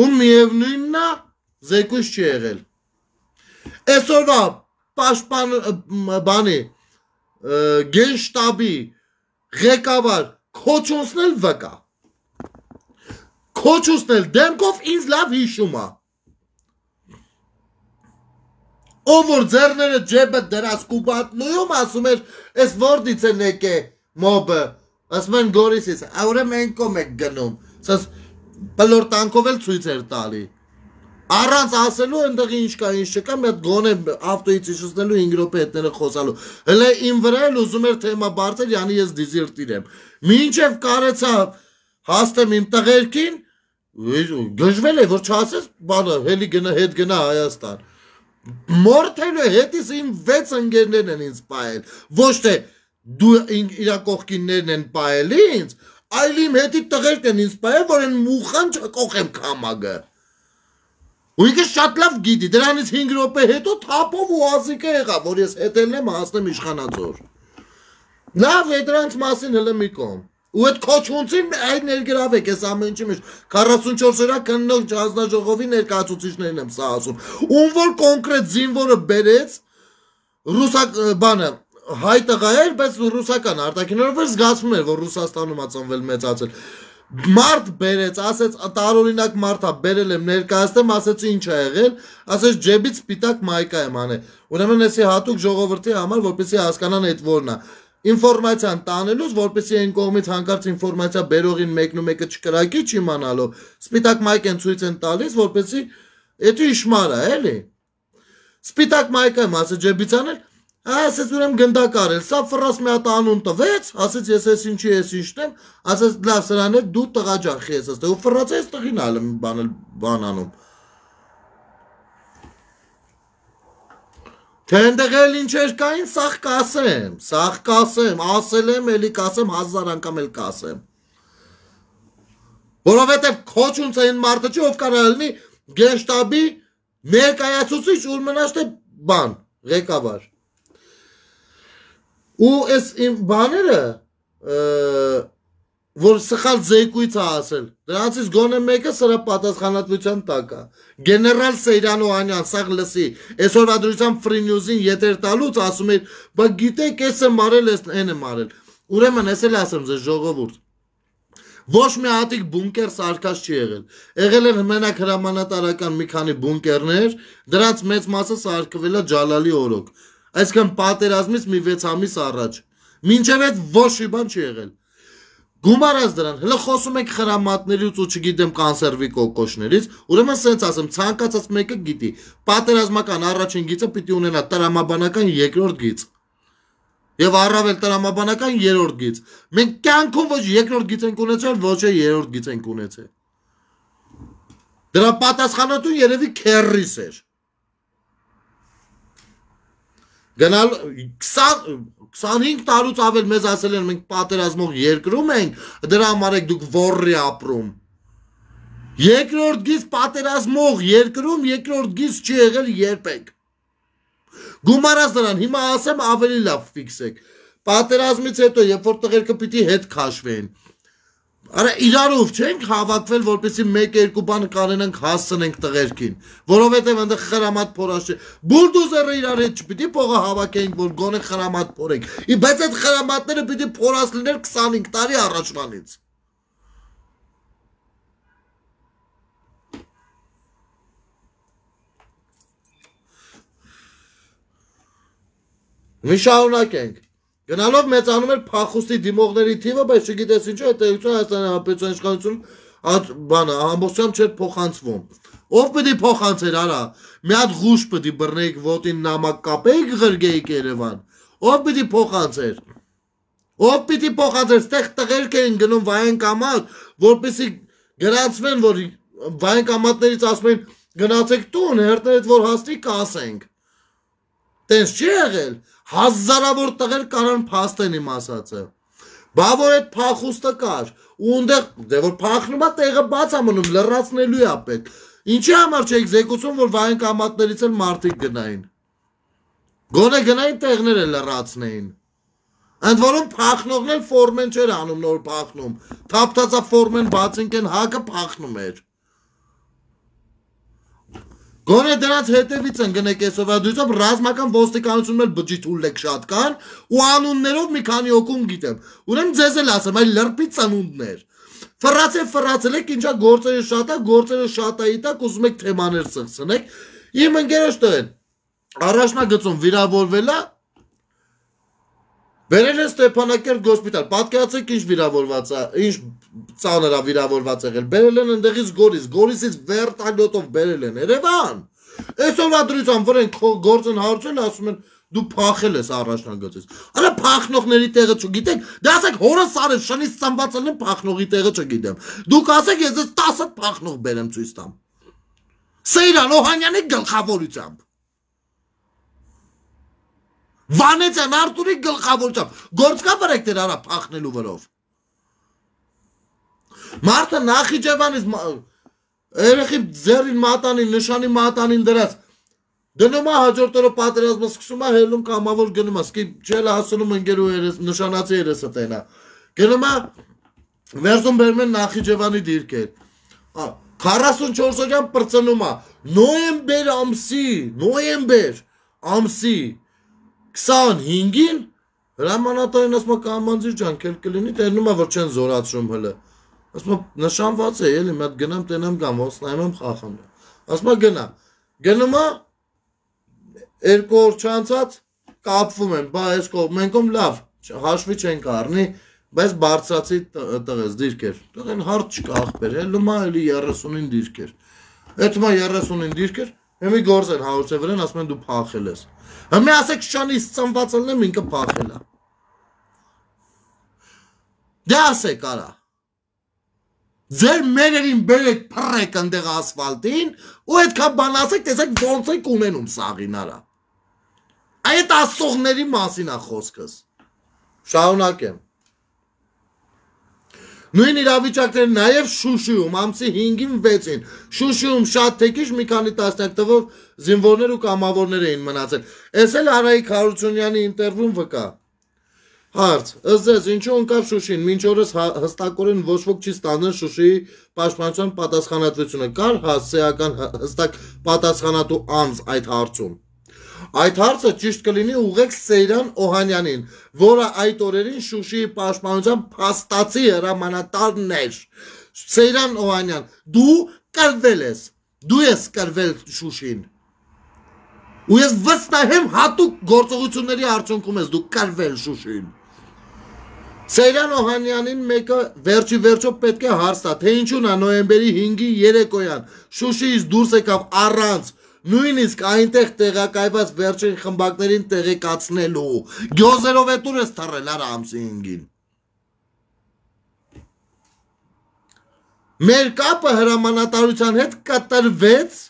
Ու միևնույնն է, զեկույց չի եղել։ Այսօրվա պաշտպան բանի գենշտաբի ղեկավար քոչունցնել վկա։ Քոչունցնել դեմքով ինձ լավ հիշում է։ Ով որ ձեռները ջեբը դրած կուբատնույում ասում էր, այս որդից են եկե մոբը, ասում են Գորիսից, ուրեմն մենք կոմ եք գնում, սաս բլորտանքով էլ ցույց էր տալի։ Առանց ասելու ընդեղ ինչ կա, ինչ չկա, մի հատ գոնե ավտոյից իջեցնելու հինգ րոպե հետները խոսալու։ Հələ իմ վրա էլ ուզում էր թեմա բարձր, յանի ես դիզերտիր եմ։ Մինչև կարեցա հաստեմ իմ տղերքին, գժվել է, որ չասես, բանը, հելի գնա, հետ գնա Հայաստան։ Մորթելու հետիս իմ վեց ընկերներն են ինձ պայել, ոչ թե դու իրա կողքիններն են պայել ինձ, այլ իմ հետի տղերքն են ինձ պայել, որ են մուխան չկողեմ կամագը։ Ու ինքը շատ լավ գիտի, դրանից հինգ րոպե հետո թափով ու ազիկը եղավ, որ ես հետելն եմ հասնեմ իշխանաձոր։ Լավ է դրանց մասին հələ մի կողմ։ Ու այդ քոչունցին այդ ներգրավեք, ես ամեն ինչի մեջ քառասունչորս օրա քննող հանձնաժողովի ներկայացուցիչներն եմ սա ասում։ Ում որ կոնկրետ զինվորը բերեց ռուսակ բանը հայ տղա էր, բայց ռուսական արտաքինորով էր զգացվում էր, որ Ռուսաստանում ա ծնվել մեծացել։ Մարդ բերեց, ասեց տարօրինակ մարդ ա բերել եմ ներկայացնեմ, ասեցի ինչ ա եղել, ասեց ջեբից սպիտակ մայկա եմ անել։ Ուրեմն էսի հատուկ ժողովրդի համար, որպեսզի հասկանան այդ որն է։ Ինֆորմացիան տանելուց, որպեսզի այն կողմից հանկարծ ինֆորմացիա բերողին մեկն ու մեկը չկրակի չիմանալով, սպիտակ մայք են ցույց են տալիս, որպեսզի էդու իշմար է, էլի։ Սպիտակ մայկը եմ ասել ջեբից անել, ասեց ուրեմն գնդակ արել, սա ֆրաս մի հատ անուն տվեց, ասեց ես ես ինչի ես ինչն եմ, ասեց լավ սրան է դու տղա ջախի ես ասել, ու ֆրաս ես տղին ալեմ բանել բանանում։ Թե ընդեղ էլ ինչեր կային, սաղ կասեմ, սաղ կասեմ, ասել եմ, էլի կասեմ, հազար անգամ էլ կասեմ։ Որովհետև քոչունց այն մարդը չի, ով կարա լինի գենշտաբի ներկայացուցիչ ու մնաց թե բան, ղեկավար։ Ու այս իմ բաները, որ սխալ զեկույց է ասել, դրանցից գոնե մեկը սրա պատասխանատվության տակ է։ Գեներալ Սեյրան Օհանյան, սաղ լսի, այսօր ադրությամբ Free News-ին եթեր տալուց ասում էր, բա գիտեք ես եմ արել, ես են եմ արել։ Ուրեմն ես էլ ասեմ ձեզ ժողովուրդ, ոչ մի հատիկ բունկեր սարկած չի եղել։ Եղել են մենակ հրամանատարական մի քանի բունկերներ, դրանց մեծ մասը սարկվել է Ջալալի օրոք։ Այսինքն պատերազմից մի վեց ամիս առաջ։ Մինչև այդ ոչ մի բան չի եղել։ Գումարած դրան, հələ խոսում եք խրամատներից ու չգիտեմ կոնսերվի կոկոշներից, ուրեմն սենց ասեմ, ցանկացած մեկը գիտի, պատերազմական առաջին գիծը պիտի ունենա տրամաբանական երկրորդ գիծ։ Եվ առավել տրամաբանական երրորդ գիծ։ Մենք կյանքում ոչ երկրորդ գիծ ենք ունեցել, ոչ է երրորդ գիծ ենք ունեցել։ Դրա պատասխանատուն երևի քերրիս էր։ Գնալ քսանհինգ տարուց ավել մեզ ասել են մենք պատերազմող երկրում ենք, դրա համար եք դուք ոռի ապրում։ Երկրորդ գիծ պատերազմող երկրում երկրորդ գիծ չի եղել երբեք։ Գումարած դրան, հիմա ասեմ ավելի լավ ֆիքսեք։ Պատերազմից հետո, երբ որ տղերքը պիտի հետ քաշվեն, Արա իրարով չենք հավաքվել, որպեսզի մեկ-երկու բան կանենք հասցնենք տղերքին, որովհետև այնտեղ խրամատ փորաշ չէ։ Բուլդոզերը իրար հետ չպիտի փողը հավաքենք, որ գոնե խրամատ փորենք։ Բայց այդ խրամատները պիտի փորած լիներ քսանհինգ տարի առաջվանից։ Մի շարունակենք։ Գնալով մեծանում էր փախուստի դիմողների թիվը, բայց չգիտես ինչու այդ տեղություն Հայաստանի Հանրապետության իշխանություն բանը ամբողջությամբ չէր փոխանցվում։ Ով պիտի փոխանցեր, արա։ Մի հատ ղուշ պիտի բռնեիք ոտին նամակ կապեիք ղրգեիք Երևան։ Ով պիտի փոխանցեր։ Ով պիտի փոխանցեր, ստեղ տղերք էին գնում վայենկամատ, որպեսզի գրանցվեն, որ վայենկամատներից ասում են գնացեք տուն, հերթներդ որ հասնի կասենք։ Տենց չի եղել։ Հազարավոր տղեր կարան փաստեն իմ ասածը։ Բա որ այդ փախուստը կար, ու ունդեղ դե որ փախնում է տեղը բաց է մնում, լրացնելու է պետք։ Ինչի համար չէիք զեկուցում, որ վայենկամատներից էլ մարդիկ գնային։ Գոնե գնային տեղները լրացնեին։ Ընդ որում փախնողն էլ ֆորմեն չէր անում նոր փախնում։ Թափթածա ֆորմեն բացինքեն հակը փախնում էր։ Գոնե դրանց հետևից են գնեք այսօր դույցով ռազմական ոստիկանությունն էլ բջիջ ուլեք շատ կան ու անուններով մի քանի օկուն գիտեմ։ Ուրեմն ձեզ էլ ասեմ, այլ լրպի ծնունդներ։ Ֆրացել ֆրացել եք, ինչա գործերը շատ է, գործերը շատ է իտակ, ուզում եք թեմաներ սխսնեք։ Իմ ընկերոջ տղեն առաջնագծում վիրավորվել է, բերել է Ստեփանակերտ գոսպիտալ, պատկերացեք ինչ վիրավորված է, ինչ ծանր է վիրավորված եղել, բերել են ընդեղից Գորիս, Գորիսից վերտալյոտով բերել են Երևան։ Այսօրվա դրությամբ վրեն գործն հարցել, ասում են դու փախել ես առաջնագծից։ Արա փախնողների տեղը չգիտեք, դե ասեք հորս արև շնից ծնվածել են փախնողի տեղը չգիտեմ։ Դուք ասեք ես ես տասը փախնող բերեմ ցույց տամ։ Սեյրան Օհանյանի գլխավորությամբ։ Վանեցյան Արտուրի գլխավորությամբ գործ կա վրեք դեր արա փախնելու վրով։ Մարդը Նախիջևանից երեխի ձեռին մատանին, նշանի մատանին դրած դնում է հաջորդ օրը պատերազմը սկսում է հելում կամավոր գնում է, սկի չել հասնում ընկերու նշանացի երեսը տենա։ Գնում է վերցում բերում են Նախիջևանի դիրքեր։ քառասունչորս օրյան պրծնում է նոյեմբեր ամսի, նոյեմբեր ամսի քսանհինգին հրամանատարին ասում է կամանձիր ջան, քել կլինի, տերնում է որ չեն զորացրում հələ։ Ասում է նշանված է, էլի մատ գնամ տենամ կամ ոստայում եմ խախանդ։ Ասում է գնա։ Գնում է երկու օր չանցած կապվում են, բա այս կողմ մենքում լավ, հաշվի չենք առնի, բայց բարձրացի տղես դիրքեր։ Տղեն հարց չկա ախպեր, հելում է էլի երեսունին դիրքեր։ Էդում է երեսունին դիրքեր, հեմի գործ են հարուցե վրեն, ասում են դու փախել ես։ Հմի ասեք շանից ծնվածելն եմ ինքը փախել է։ Դե ասեք արա։ Ձեր մերերին բերեք փռեք ընդեղ ասֆալտին ու այդքան բան ասեք, տեսեք ոնց եք ունենում սաղին արա։ Այդ ասողների մասին է խոսքս։ Շարունակեմ։ Նույն իրավիճակները նաև Շուշիում ամսի հինգին վեցին Շուշիում շատ թեկիչ մի քանի տասնյակ թվով զինվորներ ու կամավորներ էին մնացել։ Էս էլ Արայիկ Հարությունյանի ինտերվյուն վկա։ Հարց. ըստ ձեզ ինչու ընկավ Շուշին, մինչ օրս հստակորեն ոչ ոք չի ստանում Շուշիի պաշտպանության պատասխանատվությունը։ Կար հասցեական հստակ պատասխանատու անձ այդ հարցում։ Այդ հարցը ճիշտ կլինի ուղղեք Սեյրան Օհանյանին, որը այդ օրերին Շուշիի պաշտպանության փաստացի հրամանատարն էր։ Սեյրան Օհանյան, դու կրվել ես, դու ես կրվել Շուշին։ Ու ես վստահ եմ հատուկ գործողությունների արդյունքում ես դու կրվել Շուշին։ Սեյրան Օհանյանին մեկը վերջի վերջո պետք է հարց տա, թե ինչու նա նոյեմբերի հինգի երեկոյան Շուշիից դուրս եկավ առանց նույնիսկ այնտեղ տեղակայված վերջին խմբակներին տեղեկացնելու։ Գյոզերով է տուր ես թռել արա ամսի հինգին։ Մեր կապը հրամանատարության հետ կտրվեց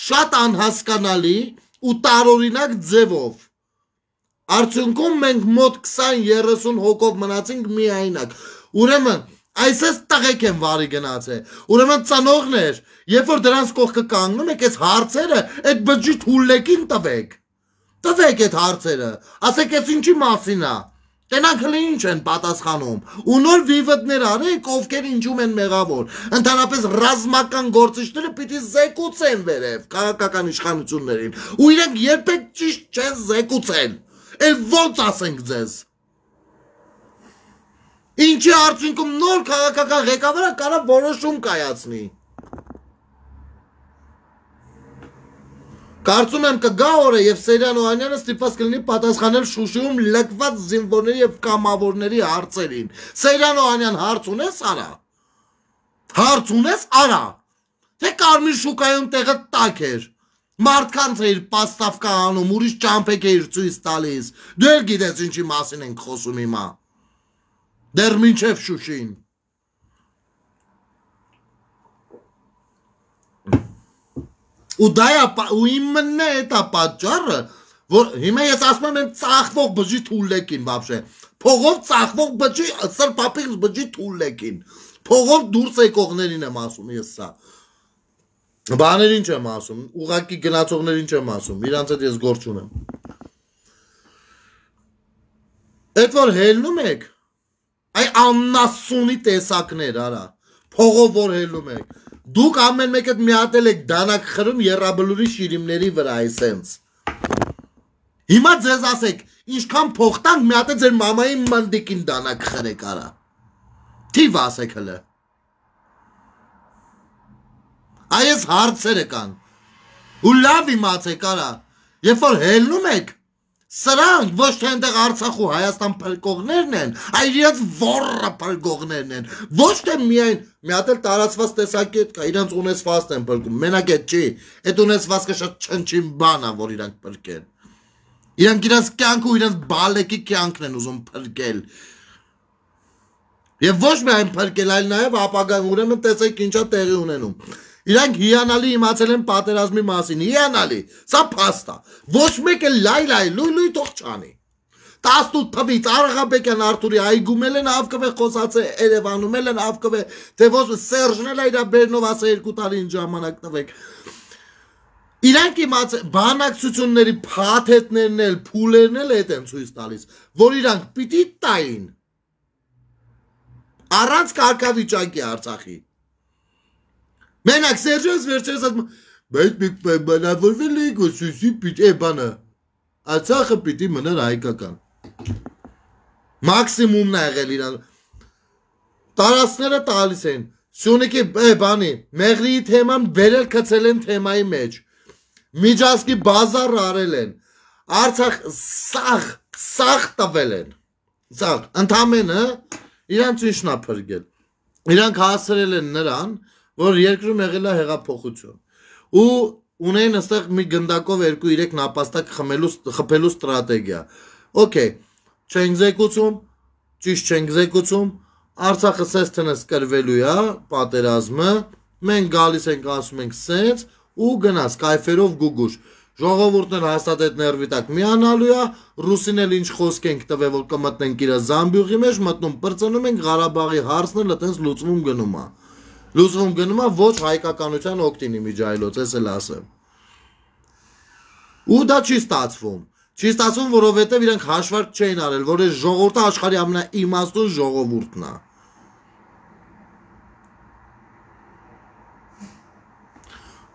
շատ անհասկանալի ու տարօրինակ ձևով։ Արդյունքում մենք մոտ քսան երեսուն հոգով մնացինք միայնակ։ Ուրեմն այսպես տղեկ են վարի գնացել։ Ուրեմն ծնողներ, երբ որ դրանց կողքը կանգնում եք, այս հարցերը այդ բջիջ հուլեկին տվեք։ Տվեք այդ հարցերը։ Ասեք այս ինչի մասին է։ Տենանք հլի ինչ են պատասխանում, ու նոր վիվդներ արեք, ովքեր ինչում են մեղավոր, ընդհանրապես ռազմական գործիչները պիտի զեկուցեն վերև քաղաքական իշխանություններին, ու իրենք երբեք ճիշտ չեն զեկուցեն, էլ ոնց ասենք ձեզ։ Ինչի արդյունքում նոր քաղաքական ղեկավարը կարա որոշում կայացնի։ Կարծում եմ կգա օրը եւ Սերյան Օհանյանը ստիպված կլինի պատասխանել Շուշիում լքված զինվորների եւ կամավորների հարցերին։ Սերյան Օհանյան, հարց ունես արա։ Հարց ունես արա։ Թե Կարմիր շուկայում տեղը տակ էր։ Մարդկանց էր պաստավկա անում, ուրիշ ճամփեք էր ցույց տալիս։ Դու էլ գիտես ինչի մասին ենք խոսում հիմա։ Դեռ մինչև Շուշին։ Ու դա է, ու իմն է դա պատճառը, որ հիմա ես ասում եմ ծախվող բջի թուլեկին բաբշե, փողով ծախվող բջի, սրպապիկ բջի թուլեկին, փողով դուրս եկողներին եմ ասում ես սա, բաներին չեմ ասում, ուղակի գնացողներին չեմ ասում, իրանց հետ ես գործ չունեմ, էդ որ հելնում եք, այ աննասունի տեսակներ արա, փողով որ հելնում եք, Դուք ամեն մեկդ միատել եք դանակ խրում երաբլուրի շիրիմների վրա այսենց։ Հիմա ձեզ ասեք, ինչքան փող տանք միատել ձեր մամայի մանդիկին դանակ խրեք արա։ Թիվ ասեք հլը։ Այս հարցերը կան։ Ու լավ իմացեք արա, երբ որ հելնում եք, սրանք ոչ թե այնտեղ Արցախ ու Հայաստան փրկողներն են, այլ իրենց ոռը փրկողներն են։ Ոչ թե միայն մի հատ էլ տարածված տեսակետ կա, իրենց ունեցվածքն են փրկում։ Մենակ այդ չի, այդ ունեցվածքը շատ չնչին բան է, որ իրանք փրկեն։ Իրանք իրենց կյանքը ու իրենց բալեկի կյանքն են ուզում փրկել։ Եվ ոչ միայն փրկել, այլ նաև ապագան ուրեմն տեսեք ինչա տեղի ունենում։ Իրանք հիանալի իմացել են պատերազմի մասին, հիանալի, սա փաստ է, ոչ մեկը լայ լայ լույ լույ թող չանի, տասնութ թվից Արղաբեկյան Արթուրի այգումել են ավկվե խոսած է Երևանում են ավկվե, թե ոչ Սերժն էլ իրա բերնով ասա երկու տարին ժամանակ տվեք, իրանք իմացել, բանակցությունների փաթեթներն էլ, փուլերն էլ էդ են ցույց տալիս, որ իրանք պիտի տային, առանց կարգավիճակի Արցախի, Մենակ Սերժոս վերջերս ասում, բայց մենք պայմանավորվել ենք, որ Սույսի պիտի է բանը, Արցախը պիտի մնար հայկական, մաքսիմումն է եղել իրան, տարածքները տալիս են, Սյունիքի բանի, Մեղրիի թեման վերել կցել են թեմայի մեջ, Միջազգի բազար արել են, Արցախ սաղ, սաղ տվել են, սաղ, ընդամենը իրանց ինչն է փրկել, իրանք հասրել են նրան, որ երկրում եղել է հեղափոխություն ու ունեն այստեղ մի գնդակով երկու երեք նապաստակ խմելու խփելու ստրատեգիա օքեյ չենք զեկուցում ճիշտ չենք զեկուցում Արցախը սես տնես կրվելու է պատերազմը մենք գալիս ենք ասում ենք սենց ու գնաց կայֆերով գուգուշ ժողովուրդն հաստատ այդ ներվի տակ միանալու է ռուսին էլ ինչ խոսք ենք տվել որ կմտնենք իր Զամբյուղի մեջ մտնում բրծնում ենք Ղարաբաղի հարցն էլ այտենց լուծվում գնում է Լուծվում գնում է ոչ հայկականության օգտին իմիջայլոց, ես էլ ասեմ։ Ու դա չի ստացվում։ Չի ստացվում, որովհետև իրենք հաշվարկ չէին արել, որ այս ժողովուրդը աշխարհի ամենաիմաստուն ժողովուրդն է։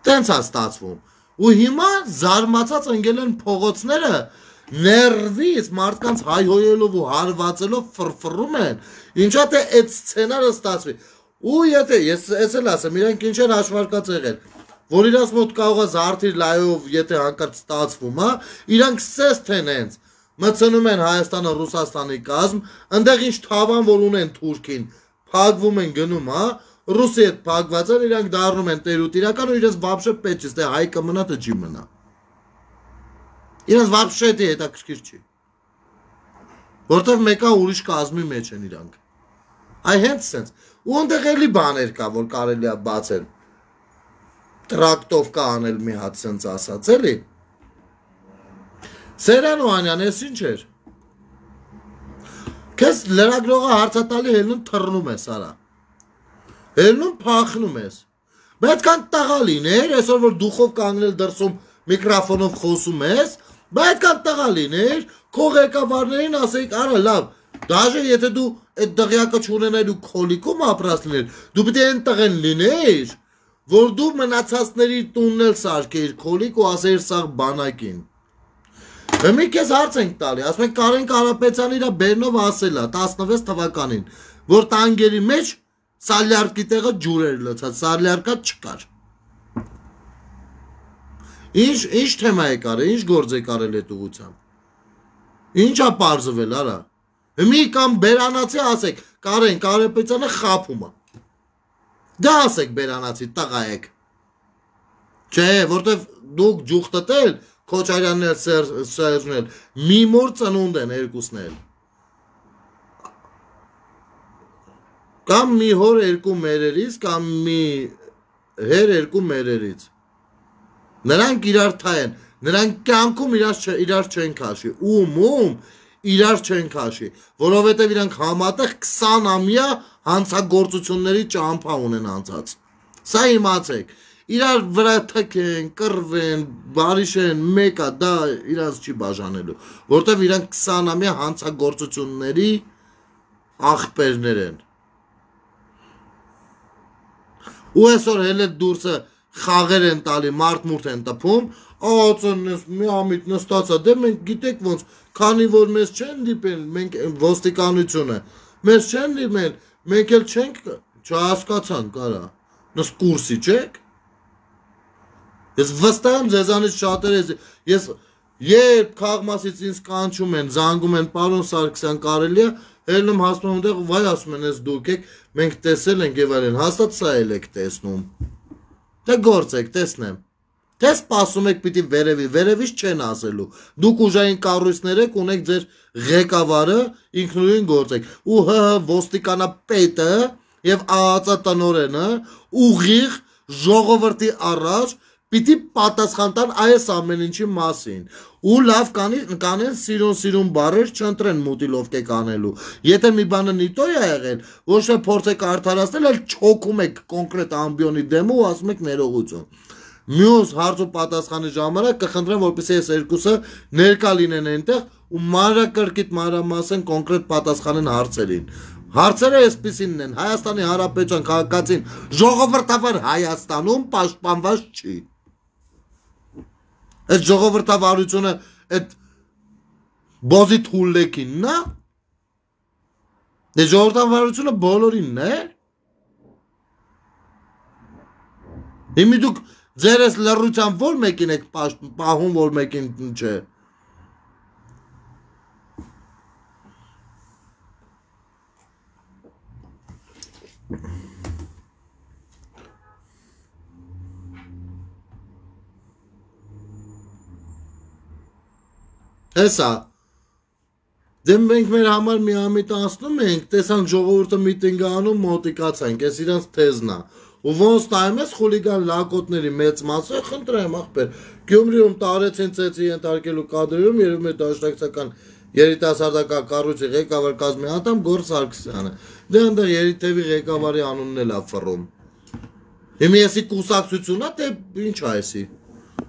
Տենց է ստացվում։ Ու հիմա զարմացած ընկել են փողոցները ներվից մարդկանց հայհոյելով ու հարվածելով ֆրֆռում են։ Ինչա թե այդ սցենարը ստացվի։ Ու եթե ես ես էլ ասեմ, իրանք ինչ են հաշվարկած եղել, որ իրաց մոտ կարող է զարդիր լայով, եթե հանկարծ ստացվում, հա, իրանք սես թե նենց, մտցնում են Հայաստանը, Ռուսաստանի կազմ, ընդեղ ինչ թավան որ ունեն Թուրքին, փակվում են գնում, հա, Ռուսի հետ փակված են, իրանք դառնում են տերուտ իրական ու իրենց վաբշե պետք չէ, թե հայ կմնա, թե չի մնա։ Իրենց վաբշե դե հետաքրքիր չի։ Որտեվ մեկը ուրիշ կազմի մեջ են իրանք։ Այ հենց սենց ու ընդեղ էլի բաներ կա, որ կարելի է բացել, տրակտով կա անել մի հատ սենց ասած, էլի, Սերյան Օհանյան, ես ինչ էր, կեզ լրագրողը հարցատալի հելնում թռնում ես, արա, հելնում պախնում ես, պետք կան տղա լիներ, այսօր որ դուխով կանգնել դրսում միկրոֆոնով խոսում ես, պետք կան տղա լիներ, քո ղեկավարներին ասեիք, արա լավ, Դաժե եթե դու այդ դղյակը չունենայր ու քոլիկում ապրած լիներ, դու պետք է այն տղեն լինեիր, որ դու մնացածների տունն էլ սարքեիր քոլիկ ու ասեիր սաղ բանակին։ Մի քեզ հարց ենք տալի, ասում ենք Կարեն Կարապետյանը իր բերնով ասել է տասնվեց թվականին, որ տանկերի մեջ սալյարկի տեղը ջուր էր լցած, սալյարկա չկար։ Ինչ ինչ թեմա է կարել, ինչ գործ է կարել այդ ուղղությամբ։ Ինչ է պարզվել, արա։ Մի կամ բերանացի ասեք, Կարեն Կարապետյանը խափում է։ Դա ասեք բերանացի, տղա եք։ Չէ, որտեվ դուք ջուխտել ել, Քոչարյանն էլ Սերժն էլ, մի մոր ծնունդ են երկուսն էլ։ Կամ մի հոր երկու մերերից, կամ մի հեր երկու մերերից։ Նրանք իրար թա են, նրանք կյանքում իրար չեն քաշի, ում ում իրար չեն քաշի, որովհետև իրանք համատեղ քսան ամյա հանցագործությունների ճամփա ունեն անցած։ Սա իմացեք, իրար վրա թքեն, կռվեն, բարիշեն, մեկա, դա իրանց չի բաժանելու, որովհետև իրանք քսան ամյա հանցագործությունների աղբերներ են։ Ու այսօր հենց դուրսը խաղեր են տալի, մարդ-մուրդ են տփում, ածնես մի ամիտ նստածա, դե մենք գիտեք ոնց, քանի որ մեզ չեն դիպել, մենք ոստիկանությունը, մեզ չեն դիմել, մենք էլ չենք, չհասկացանք, արա, նս կուրսի չեք։ Ես վստահ եմ ձեզանից շատերը, ես երբ քաղմասից ինձ կանչում են, զանգում են, պարոն Սարգսյան կարելի է, հելնում հասնում եմ դեղ, վայ ասում են, ես դուք եք, մենք տեսել ենք եւ այլն, հաստատ սա էլ եք տեսնում։ Դե գործեք, տեսնեմ։ Թե սպասում եք պիտի վերևի, վերևից չեն ասելու։ Դուք ուժային կառույցներ եք, ունեք ձեր ղեկավարը, ինքնուրույն գործեք։ Ու հ ոստիկանապետը եւ ԱԱԾ-տնօրենը ուղիղ ժողովրդի առաջ պիտի պատասխան տան այս ամեն ինչի մասին։ Ու լավ կանեն սիրուն-սիրուն բառեր չընտրեն մուտիլովկե կանելու։ Եթե մի բանը նիտո է եղել, ոչ թե փորձեք արդարացնել, այլ չոքում եք կոնկրետ ամբիոնի դեմը ու ասում եք ներողություն։ Մյուս հարց ու պատասխանի ժամանակ կխնդրեմ, որպեսզի այս երկուսը ներկա լինեն այնտեղ ու մանրակրկիտ մանրամասն կոնկրետ պատասխանեն հարցերին։ Հարցերը այսպիսինն են, Հայաստանի Հանրապետության քաղաքացին ժողովրդավար Հայաստանում պաշտպանված չի։ Այդ ժողովրդավարությունը այդ բոզի թուլեկինն է։ Դե ժողովրդավարությունը բոլորինն է։ Հիմի դուք ձեր ես լռության որ մեկին եք պահում, որ մեկին չէ։ Հեսա, դե մենք մեր համար մի ամիտ անցնում ենք, տեսանք ժողովուրդը միտինգ անում, մոտիկացանք, ես իրանց թեզն է։ Ու ոնց նայում ես խուլիգան լակոտների մեծ մասը, խնդրեմ ախպեր, Գյումրիում տարեցին ծեծի ենթարկելու կադրերում երևում է դաշնակցական երիտասարդական կառույցի ղեկավար կազմի անդամ Գոռ Սարգսյանը։ Դե այնտեղ երիտևի ղեկավարի անունն էլ է ֆռում։ Հիմա եսի կուսակցությունն է, թե ինչ է էսի։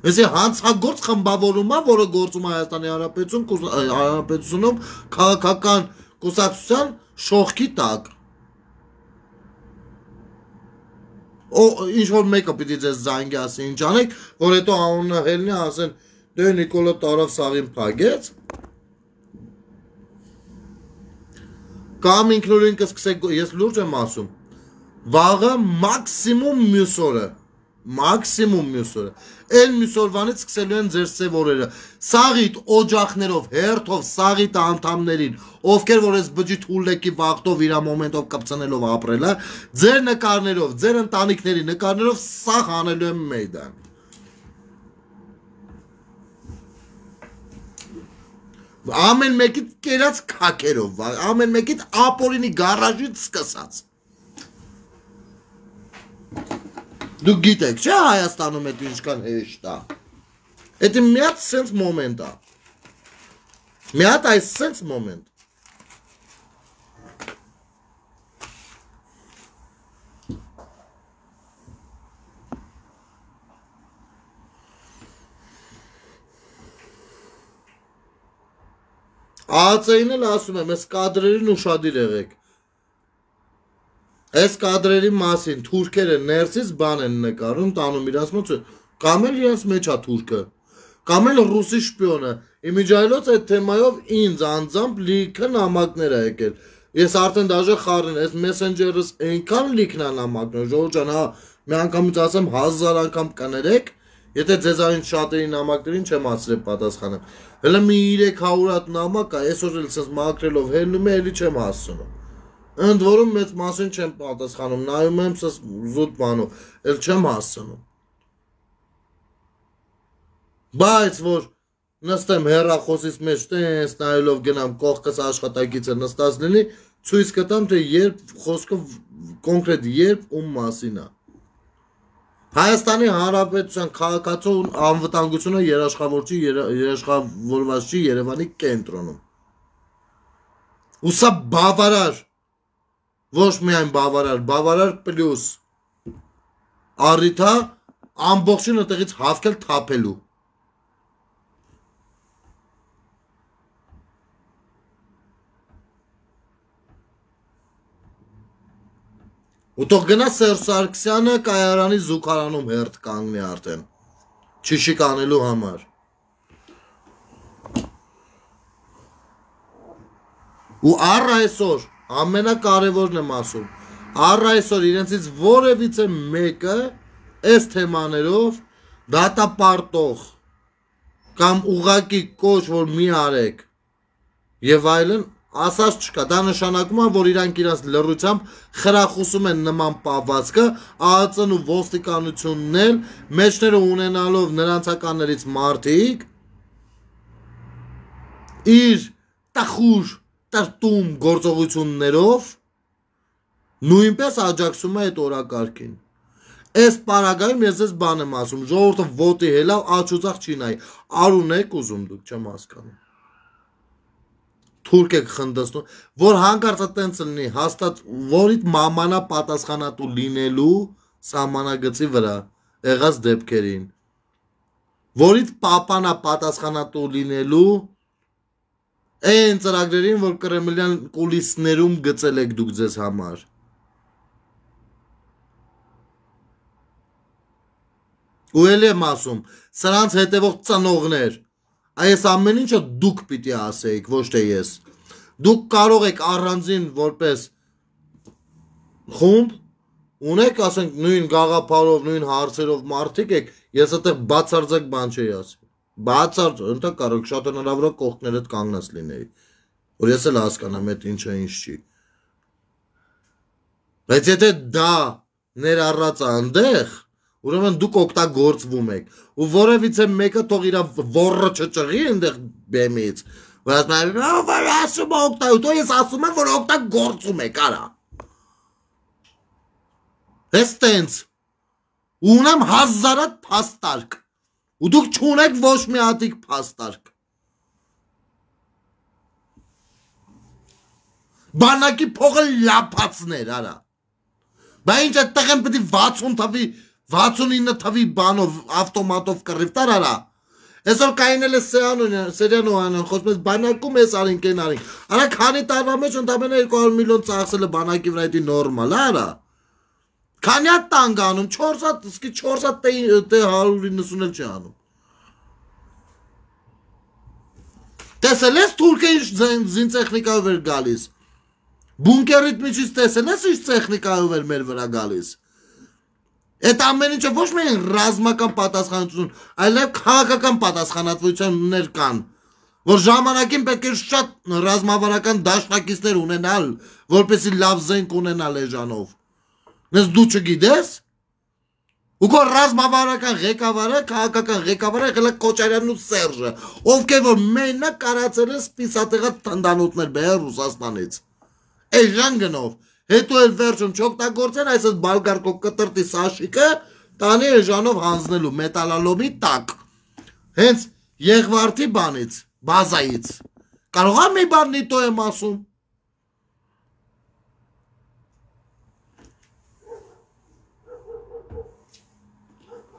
Եսի հանցագործ խմբավորումա, որը գործում է Հայաստանի Հանրապետությունում քաղաքական կուսակցության շողքի տակ։ Ինչ որ մեկը պիտի ձեզ զանգի ասի ինչ անեք, որ հետո անունը հելնի ասեն, դե Նիկոլը տարավ սաղին փագեց։ Կամ ինքնուրույն կսկսեք, ես լուրջ եմ ասում, վաղը մաքսիմում մյուս օրը, մաքսիմում մյուս օրը, այն մյուս օրվանից սկսելու են ձեր սև օրերը, սաղիտ օջախներով, հերթով, սաղիտ անդամներին, ովքեր որ ես բջի թուլեկի վաղտով իրա մոմենտով կպցնելով ապրել է, ձեր նկարներով, ձեր ընտանիքների նկարներով սաղ անելու եմ մեյդան։ Ամեն մեկիտ կերած կակերով, ամեն մեկիտ ապորինի գարաժից սկսած։ Դուք գիտեք, չէ Հայաստանում էդ ինչքան հեշտ է։ Էդ մի հատ սենց մոմենտ է։ Մի հատ այս սենց մոմենտ։ ԱԱՑ-ին էլ ասում եմ, այս կադրերին ուշադիր եղեք։ Այս կադրերի մասին թուրքերը ներսից բան են նկարում, տանում իրաց մոտ, կամ էլ իրաց մեջ է թուրքը, կամ էլ ռուսի շպիոնը։ Իմիջայլոց այդ թեմայով ինձ անձամբ լիքը նամակներ ա եկել։ Ես արդեն դաժե խառին, այս մեսենջերս այնքան լիքն ա նամակներ, ժողովուրդ ջան, հա, մի անգամից ասեմ հազար անգամ կներեք, եթե ձեզ այն շատերի նամակներին չեմ ասրել պատասխանը։ Հələ մի երեք հարյուր հատ նամակ ա, այսօր էլ ցած մաքրելով հելնում է, էլի չեմ հասցնում։ Ընդ որում մեծ մասին չեմ պատասխանում, նայում եմ սս զուտ բանով, էլ չեմ հասցնում։ Բայց որ նստեմ հեռախոսից մեջ տենց նայելով գնամ կողքս աշխատակիցը նստած լինի, ցույց կտամ, թե երբ խոսքը կոնկրետ երբ ում մասին է։ Հայաստանի Հանրապետության քաղաքացու անվտանգությունը երաշխավորչի երաշխավորված չի Երևանի կենտրոնում։ Ու սա բավարար, ոչ միայն բավարար, բավարար պլյուս առիթ է ամբողջին այդտեղից հավքել թափելու։ Ու թող գնա Սերժ Սարգսյանը կայարանի զուգարանում հերթ կանգնի արդեն, չիշիկ անելու համար։ Ու առ այսօր, ամենակարևորն եմ ասում, առ այսօր իրենցից որևիցե մեկը այս թեմաներով դատապարտող կամ ուղակի կոչ, որ մի արեք եւ այլն ասած չկա, դա նշանակում է, որ իրանք իրանց լռությամբ խրախուսում են նման պահվածքը, ԱԱՑ-ն ու ոստիկանությունն էլ մեջները ունենալով նրանցականներից մարդիկ իր տխուր, տրտում գործողություններով նույնպես աջակցում է այդ օրակարգին։ Այս պարագայում ես ձեզ բան եմ ասում, ժողովուրդը ոտի հելավ աչուձախ չի նայի, արուն եք ուզում դուք, չեմ հասկանում։ Թուրք եք խնդստում, որ հանկարծը տենց լինի, հաստատ որիդ մամանա պատասխանատու լինելու սահմանագծի վրա եղած դեպքերին, որիդ պապանա պատասխանատու լինելու այն ծրագրերին, որ կրեմլյան կուլիսներում գծել եք դուք ձեզ համար։ Ու էլ եմ ասում, սրանց հետևող ծնողներ, այս ամեն ինչը դուք պիտի ասեիք, ոչ թե ես։ Դուք կարող եք առանձին որպես խումբ ունեք, ասենք նույն գաղափարով, նույն հարցերով մարդիկ եք, ես այդտեղ բացարձակ բան չի ասի։ Բացարձակ, ընդ կարող շատ հնարավոր է կողքներդ կանգնած լինեի, որ ես էլ հասկանամ այդ ինչը ինչ չի։ Բայց եթե դա ներառած է այնտեղ, ուրեմն դուք օգտագործվում եք, ու որևիցե մեկը թող իր ոռը չճղի այնտեղ բեմից, որ ասում է օգտագործում, ես ասում եմ, որ օգտագործում եք, արա։ Ես տենց, ունեմ հազարատ փաստարկ, ու դուք չունեք ոչ մի հատիկ փաստարկ։ Բանակի փողը լապացներ, արա։ Բա ինչ այդտեղ են պետք է վաթսուն թվի վաթսունինը թվի բանով ավտոմատով կռիվ տար արա։ Այսօր կայնել է Սերյանո անան, խոսում ես բանակում ես արինք են արինք։ Արա քանի տարվա մեջ ընդամենը երկու հարյուր միլիոն ծախսել է բանակի վրա, դա նորմալ է արա։ Քանի հատ տանգ անում, չորս հատ, իսկի չորս հատ տե հարյուր իննսուն էլ չի անում։ Տեսել ես թուրքը ինչ զինտեխնիկայով էր գալիս։ Բունկերիդ միջից տեսել ես ինչ տեխնիկայով էր մեր վրա գալիս։ Այդ ամեն ինչը ոչ միայն ռազմական պատասխանատվություն, այլև քաղաքական պատասխանատվություններ կան, որ ժամանակին պետք է շատ ռազմավարական դաշնակիցներ ունենալ, որպեսզի լավ զենք ունենալ էժանով։ Նես դու չգիտես։ Ու քո ռազմավարական ղեկավարը, քաղաքական ղեկավարը եղել է Քոչարյանն ու Սերժը, ովքեր որ մենակ կարացել են սպիսատեղած թնդանոթներ բերել Ռուսաստանից։ Էժան գնով։ Հետո էլ վերջում չօգտագործեն այս բալգարկո կտրտի սաշիկը տանի էժանով հանձնելու մետալալոմի տակ։ Հենց Եղվարդի բանից, բազայից։ Կարող է մի բան նիտո եմ ասում։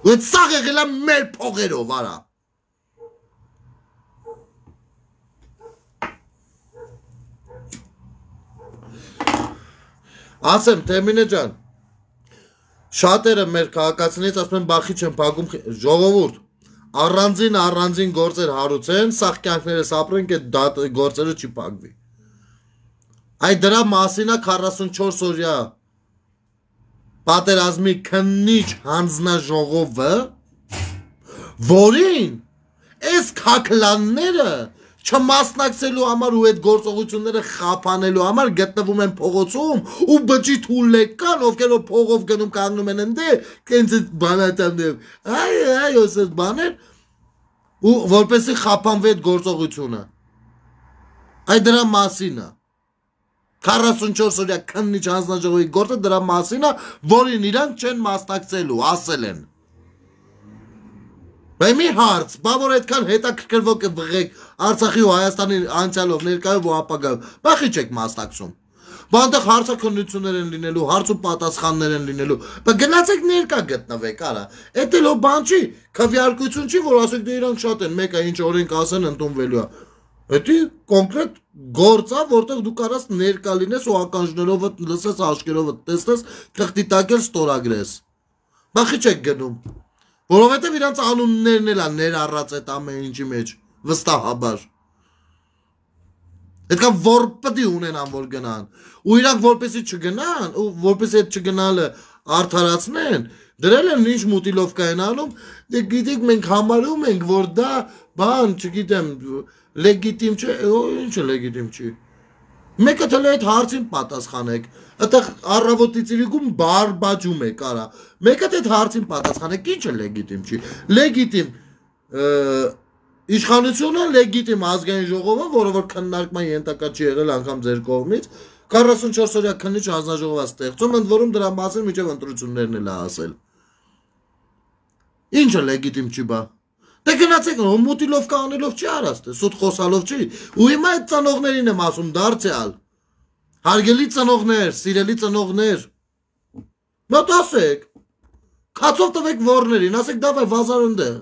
Ու այդ սաղ եղել է մեր փողերով, արա։ Ասեմ, Թեմինե ջան, շատերը մեր քաղաքացիներից ասում են բախի չեն փակում, ժողովուրդ, առանձին առանձին գործեր հարուցեն, սաղ կյանքներս ապրենք, այդ գործերը չի փակվի։ Այդ դրա մասին է քառասունչորս օրյա պատերազմի քննիչ հանձնաժողովը, որին այս քաքլանները չմասնակցելու համար ու այդ գործողությունները խափանելու համար գտնվում են փողոցում ու բջի թուլեկան, ովքեր որ փողով գնում կանգնում են ընդ կենց բանատաններ, այ այ ոսս բաներ ու որպեսի խափանվի այդ գործողությունը։ Այդ դրա մասին է։ քառասունչորս օրյա քննիչ հանձնաժողովի գործը դրա մասին է, որին իրանք չեն մասնակցելու, ասել են։ Բայց մի հարց, բա որ այդքան հետաքրքրվող կվղեք Արցախի ու Հայաստանի անցյալով, ներկայով ու ապագայով, բախի չեք մասնակցում։ Բա այնտեղ հարցաքննություններ են լինելու, հարց ու պատասխաններ են լինելու։ Բա գնացեք ներկա գտնվեք, արա։ Էդ էլ բան չի, քվեարկություն չի, որ ասեք դե իրանք շատ են, մեկը ինչ օրենք ասեն ընդունվելու է։ Դա կոնկրետ գործ է, որտեղ դու կարաս ներկա լինես ու ականջներով լսես, աշկերով տեսնես, թղթի տակ էլ ստորագրես։ Բախի չեք գնում։ Որովհետև իրանց անուններն էլ են ներառած այդ ամեն ինչի մեջ, վստահաբար։ Այդքան որ պետք է ունենան, որ գնան։ Ու իրանք որպեսի չգնան, ու որպեսի այդ չգնալը արդարացնեն, դրել են ինչ մուտիլովկա են անում, դե գիտեք մենք համարում ենք, որ դա բան, չգիտեմ, լեգիտիմ չէ, ինչը լեգիտիմ չի։ Մեկը թել այդ հարցին պատասխանեք, այդտեղ առավոտի ծիրիկում բարբաջում եք, արա։ Մեկը այդ հարցին պատասխանեք, ինչը լեգիտիմ չի։ Լեգիտիմ իշխանությունը, լեգիտիմ ազգային ժողովը, որը որ քննարկման ենթակա չի եղել անգամ ձեր կողմից, քառասունչորս օրյա քննիչ հանձնաժողով է ստեղծում, ընդ որում դրա մասին միջև ընտրություններն էլ է ասել։ Ինչը լեգիտիմ չի բա։ Դե գնացեք, մուտիլովկա անելով չի արած, սուտ խոսալով չի։ Ու հիմա այդ ծնողներին եմ ասում, դարձյալ։ Հարգելի ծնողներ, սիրելի ծնողներ։ Մոտ ասեք։ Քացով տվեք ворներին, ասեք դավայ վազար ընդեղ։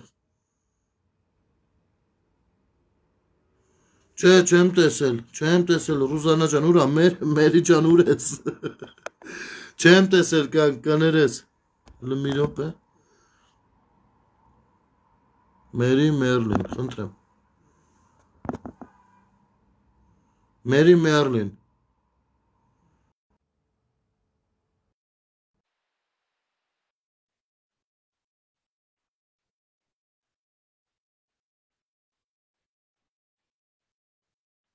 Չէ, չեմ տեսել, չեմ տեսել, Ռուզանա ջան, ուրա, Մերի ջան, ուր ես։ Չեմ տեսել, կներես։ Մի րոպե։ Մերի Մերլին, խնդրեմ։ Մերի Մերլին։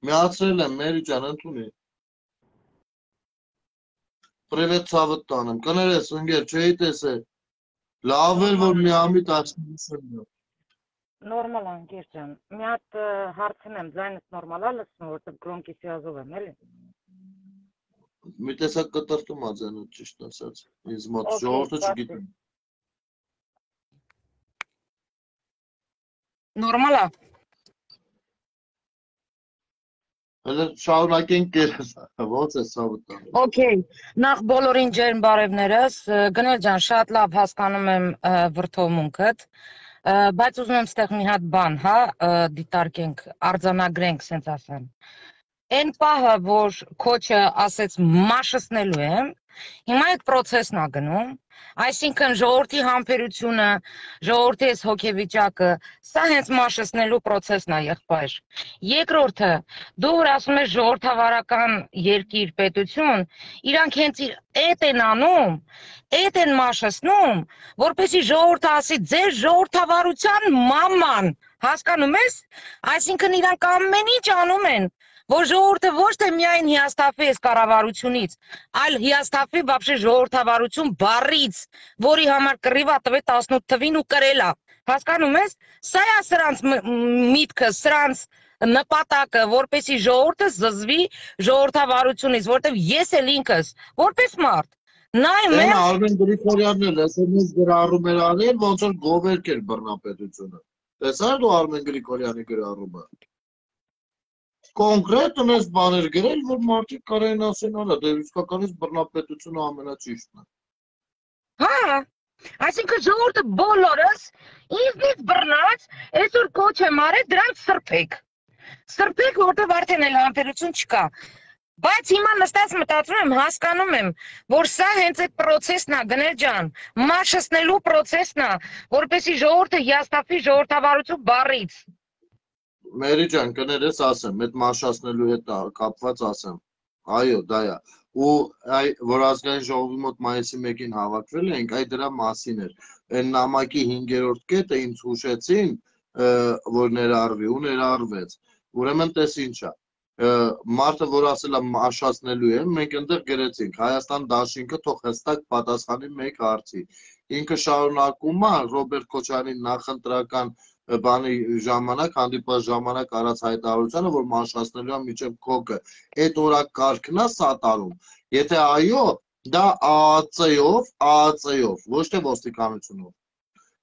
Միացրել եմ, Մերի ջան, ընդունի։ Պրևետ ցավդ տանեմ, կներես, ընգեր, չէի տեսել։ Լավ էլ, որ միամիտ աչքնիսն է։ Նորմալ անգեր ջան, մի հատ հարցնեմ, ձայնս նորմալ է լսում, որտեղ գրոնքի սիազով եմ, էլի։ Մի տեսակ կտրտում ա ձայնը, ճիշտ ասած, ինձ մոտ, ժողովուրդը չգիտեմ։ Նորմալ է։ Հələ շարունակենք կերես, ոնց է ցավը տանը։ Okay, նախ բոլորին ջերմ բարևներս, Գնել ջան, շատ լավ հասկանում եմ վրդովմունքդ, բայց ուզում եմ ստեղ մի հատ բան, հա, դիտարկենք, արձանագրենք, սենց ասեմ։ Այն պահը, որ քոչը ասեց մաշսնելու եմ, հիմա այդ պրոցեսն է գնում, այսինքն ժողովրդի համբերությունը, ժողովրդի այս հոգեվիճակը, սա հենց մաշսնելու պրոցեսն է, եղբայր։ Երկրորդը, դու որ ասում ես ժողովրդավարական երկիր, պետություն, իրանք հենց այդ են անում, այդ են մաշսնում, որպեսզի ժողովուրդը ասի ձեր ժողովրդավարության մաման, հասկանում ես, այսինքն իրանք ամեն ինչ անում են, որ ժողովուրդը ոչ թե միայն հիասթափվի այս կառավարությունից, այլ հիասթափվի բաբշե ժողովրդավարություն բառից, որի համար կռիվա տվե տասնութ թվին ու կրելա, հասկանում ես, սա է սրանց միտքը, սրանց նպատակը, որպեսի ժողովուրդը զզվի ժողովրդավարությունից, որտեվ ես էլ ինքս, որպես մարդ, նայում եմ Արմեն Գրիգորյանն էլ էս էս գրառում էր արել, ոնց որ գովերք էր բռնապետությունը։ Տեսա՞ր դու Արմեն Գրիգորյանի գրառումը։ Կոնկրետ ունես բաներ գրել, որ մարդիկ կարային ասեն, արա, դե իսկականից բռնապետությունը ամենաճիշտն է։ Հա, այսինքն ժողովուրդը բոլորս ինձնից բռնած, այսօր կոչ եմ արել դրանց սրբեք։ Սրբեք, որտեղ արդեն էլ համբերություն չկա։ Բայց հիմա նստած մտածում եմ, հասկանում եմ, որ սա հենց այդ process-ն է, գնել ջան, մաշեցնելու process-ն է, որպեսզի ժողովուրդը հիասթափվի ժողովրդավարություն բառից։ Մերի ջան, կներես ասեմ, այդ մաշացնելու հետ կապված ասեմ։ Այո, դա է։ Ու այ որ ազգային ժողովի մոտ մայիսի մեկին հավաքվել ենք, այ դրա մասին էր։ Այն նամակի հինգերորդ կետը ինձ հուշեցին, որ ներառվի ու ներառվեց։ Ուրեմն տես ինչա։ Մարդը, որ ասել է մաշացնելու է, մենք այնտեղ գրեցինք Հայաստան Դաշինքը թող հստակ պատասխանի մեկ հարցի։ Ինքը շարունակում է Ռոբերտ Քոչարյանի նախընտրական բանի ժամանակ, հանդիպած ժամանակ արած հայտարարությանը, որ մաշացնելու է միջև քոկը։ Այդ օրակարգն է սատարում։ Եթե այո, դա ԱԱՑ-ով, ԱԱՑ-ով, ոչ թե ոստիկանությունով։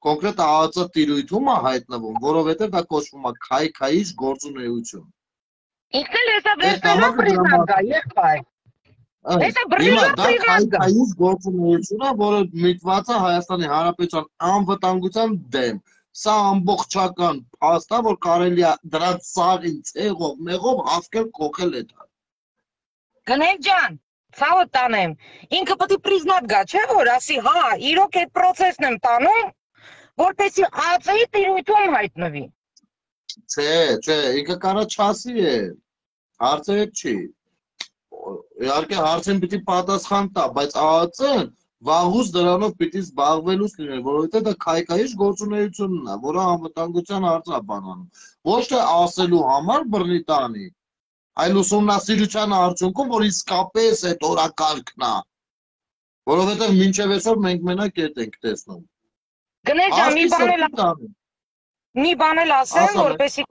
Կոնկրետ ԱԱՑ տիրույթում է հայտնվում, որովհետև դա կոչվում է քայքայիչ գործունեություն։ Ինքն էլ հեսա վերցնելով պրիզնատ գա, եղբայր։ Հեսա բրիզնատ պրիզնատ գա։ Քայքայիչ գործունեություն է, որը միտված է Հայաստանի Հանրապետության անվտանգության դեմ։ Սա ամբողջական փաստ է, որ կարելի է դրանց սաղին ցեղով, մեղով հասկել կոկել է դա։ Գնել ջան, ցավը տանեմ։ Ինքը պետք է պրիզնատ գա, չէ՞ որ ասի, հա, իրոք այդ process-ն եմ տանում, որպեսզի ԱԱՑ-ի տիրույթում հայտնվի։ Չէ, չէ, ինքը կարա չասի է։ Հարցը այդ չի։ Իհարկե հարցին պիտի պատասխան տա, բայց ԱԱՑ-ն վաղուց դրանով պիտի զբաղվելուց լինել, որովհետև դա քայքայիչ գործունեությունն է, որը անվտանգության հարց է բանանում։ Ոչ թե ասելու համար բռնի տանի, այլ ուսումնասիրության արդյունքում, որ իսկապես այդ օրակարգն է։ Որովհետև մինչև այսօր մենք մենակ այդ ենք տեսնում։ Գնել ջան, մի բան էլ մի բան էլ ասեմ, որպեսզի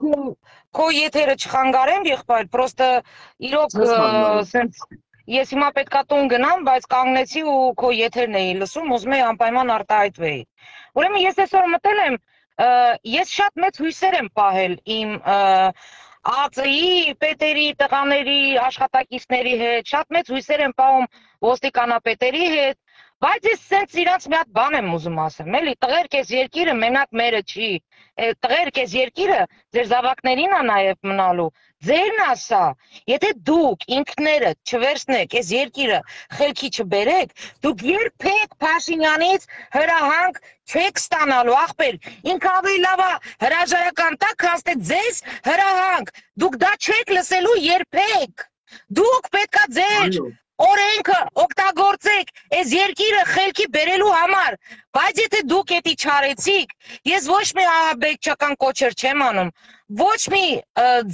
քո եթերը չխանգարեմ, եղբայր, պրոստը իրոք սենց ես հիմա պետքա տուն գնամ, բայց կանգնեցի ու քո եթերն էի լսում, ուզում էի անպայման արտահայտվեի։ Ուրեմն ես այսօր մտել եմ, ես շատ մեծ հույսեր եմ պահել իմ ԱԱՑ-ի, պետերի, տղաների, աշխատակիցների հետ, շատ մեծ հույսեր եմ պահում ոստիկանապետերի հետ, բայց ես սենց իրանց մի հատ բան եմ ուզում ասեմ, էլի, տղերք ես երկիրը մենակ մերը չի, տղերք ես երկիրը ձեր զավակներին է նաև մնալու, ձերն է սա, եթե դուք ինքներդ չվերցնեք, ես երկիրը խելքի չբերեք, դուք երբեք Փաշինյանից հրահանգ չեք ստանալու, ախպեր, ինքը ավելի լավ է հրաժարական տա, քան թե ձեզ հրահանգ, դուք դա չեք լսելու երբեք, դուք պետքա ձեր օրենքը օգտագործեք այս երկիրը խելքի բերելու համար, բայց եթե դուք էդի չարեցիք, ես ոչ մի ահաբեկչական կոչեր չեմ անում, ոչ մի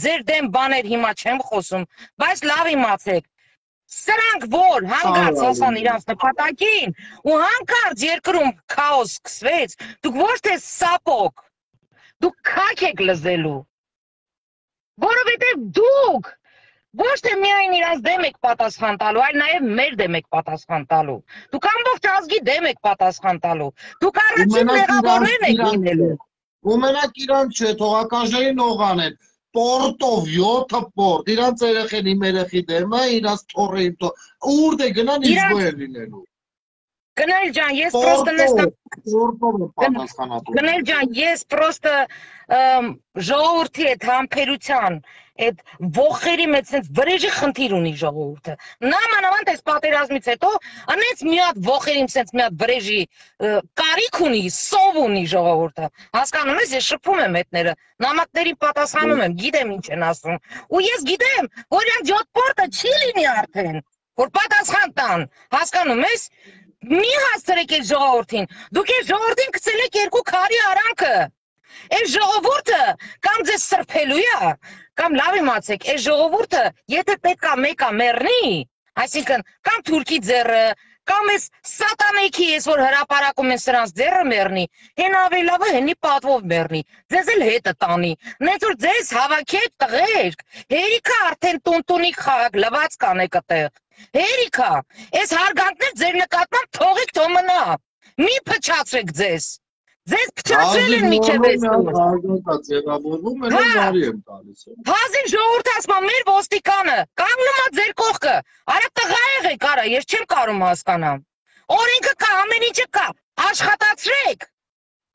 ձեր դեմ բաներ հիմա չեմ խոսում, բայց լավ իմացեք, սրանք որ հանգած հասան իրանց նպատակին ու հանկարծ երկրում քաոս սկսվեց, դուք ոչ թե սապոկ, դուք քաք եք լզելու, որովհետև դուք ոչ թե միայն իրանց դեմ եք պատասխան տալու, այլ նաև մեր դեմ եք պատասխան տալու։ Դուք ամբողջ ազգի դեմ եք պատասխան տալու։ Դուք առաջին մեղավորներն եք լինելու։ Ու մենակ իրանց չէ, թողականներին օղան են, պորտով, յոթը պորտ, իրանց երեխեն իմ երեխի դեմը, իրանց թորեին թոր, ուր դե գնան իզգո են լինելու։ Գնել ջան, ես պրոստը Գնել ջան, ես պրոստը ժողովրդի այդ համբերության, այդ ողերի մեջ սենց վրեժի խնդիր ունի ժողովուրդը։ Նամանավանդ այս պատերազմից հետո, անենց մի հատ ողերին սենց մի հատ վրեժի կարիք ունի, սով ունի ժողովուրդը։ Հասկանում ես, ես շփում եմ հետները, նամակների պատասխանում եմ, գիտեմ ինչ են ասում։ Ու ես գիտեմ, որ իրանք յոթ պորտը չի լինի արդեն, որ պատասխան տան, հասկանում ես։ Մի հասցրեք այս ժողովրդին, դուք այս ժողովրդին գցել եք երկու քարի արանքը, այս ժողովուրդը կամ ձեզ սրբելու է, կամ լավ իմացեք, այս ժողովուրդը եթե պետք է մեկը մեռնի, այսինքն կամ թուրքի ձեռը, կամ այս սատանեքի ես որ հրապարակում են սրանց ձեռը մեռնի, հեն ավելի լավը հենի պատվով մեռնի, ձեզ էլ հետը տանի, նենց որ ձեզ հավաքեք տղերք, հերիքա արդեն տունտունի խաղակ լված կանեք այդտեղ, հերիքա, այս հարգանքներ ձեր նկատմամբ թողեք թող մնա, մի փչացրեք ձեզ, ձեզ փչացրել են միջև Հազին ժողովուրդ ասում մեր ոստիկանը, կանգնում է ձեր կողքը, արա տղա եղեք արա, ես չեմ կարում հասկանամ, օրենքը կա, ամեն ինչը կա, աշխատացրեք,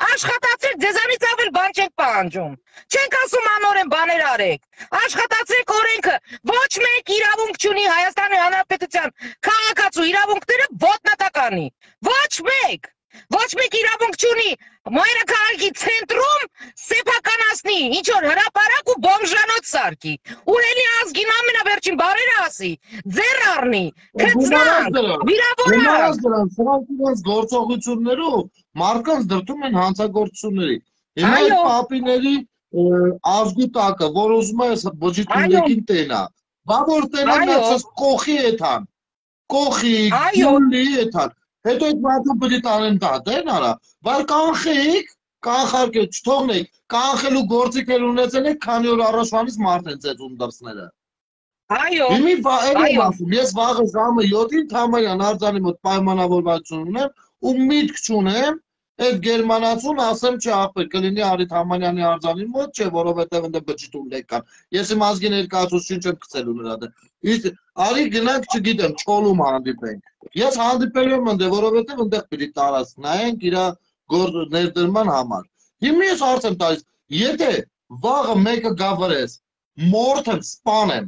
Աշխատացեք, ձեզանից ավել բան չենք պահանջում։ Չենք ասում անօրեն բաներ արեք։ Աշխատացեք օրենքը։ Ոչ մեկ իրավունք չունի Հայաստանի Հանրապետության քաղաքացու իրավունքները ոտնատականի։ Ոչ մեկ։ Ոչ մեկ իրավունք չունի մայրաքաղաքի ցենտրում սեփականացնի, ինչ որ հրապարակ ու բոմժանոց սարքի։ Ուրելի ազգին ամենավերջին բարերը ասի, ձեռ առնի, քծնանք, վիրավորանք։ Սրանք իրենց գործողություններով մարդկանց դրդում են հանցագործությունների։ Հիմա այդ պապիների ազգու տակը, որ ուզում է բջիջին տենա, բա որ տենա նացած կողի էթան, կողի, գյուլի էթան, հետո այդ մարդը բրի տանեն դատեն արա, բայց կանխեիք, կանխարկեք, չթողնեք, կանխելու գործիք էլ ունեցել եք, քանի օր առաջվանից մարդ են ծեծում դրսները։ Այո, Հիմի այո, ես վաղը ժամը յոթին Թամանյան արձանի մոտ պայմանավորվածություն ունեմ ու միտք չունեմ այդ գերմանացուն ասեմ չէ ախպեր կլինի Արի Թամանյանի արձանի մոտ չէ, որովհետև ընդ բջիջում լեկան։ Ես իմ ազգի ներկայացուցիչ չեմ գցելու նրա դեմ։ Արի գնանք, չգիտեմ, Չոլում հանդիպենք։ Ես հանդիպելու եմ ընդ, որովհետև այնտեղ պիտի տարած նայենք իր ներդրման համար։ Հիմա ես հարց եմ տալիս, եթե վաղը մեկը գավրես, մորթ եմ, սպանեմ,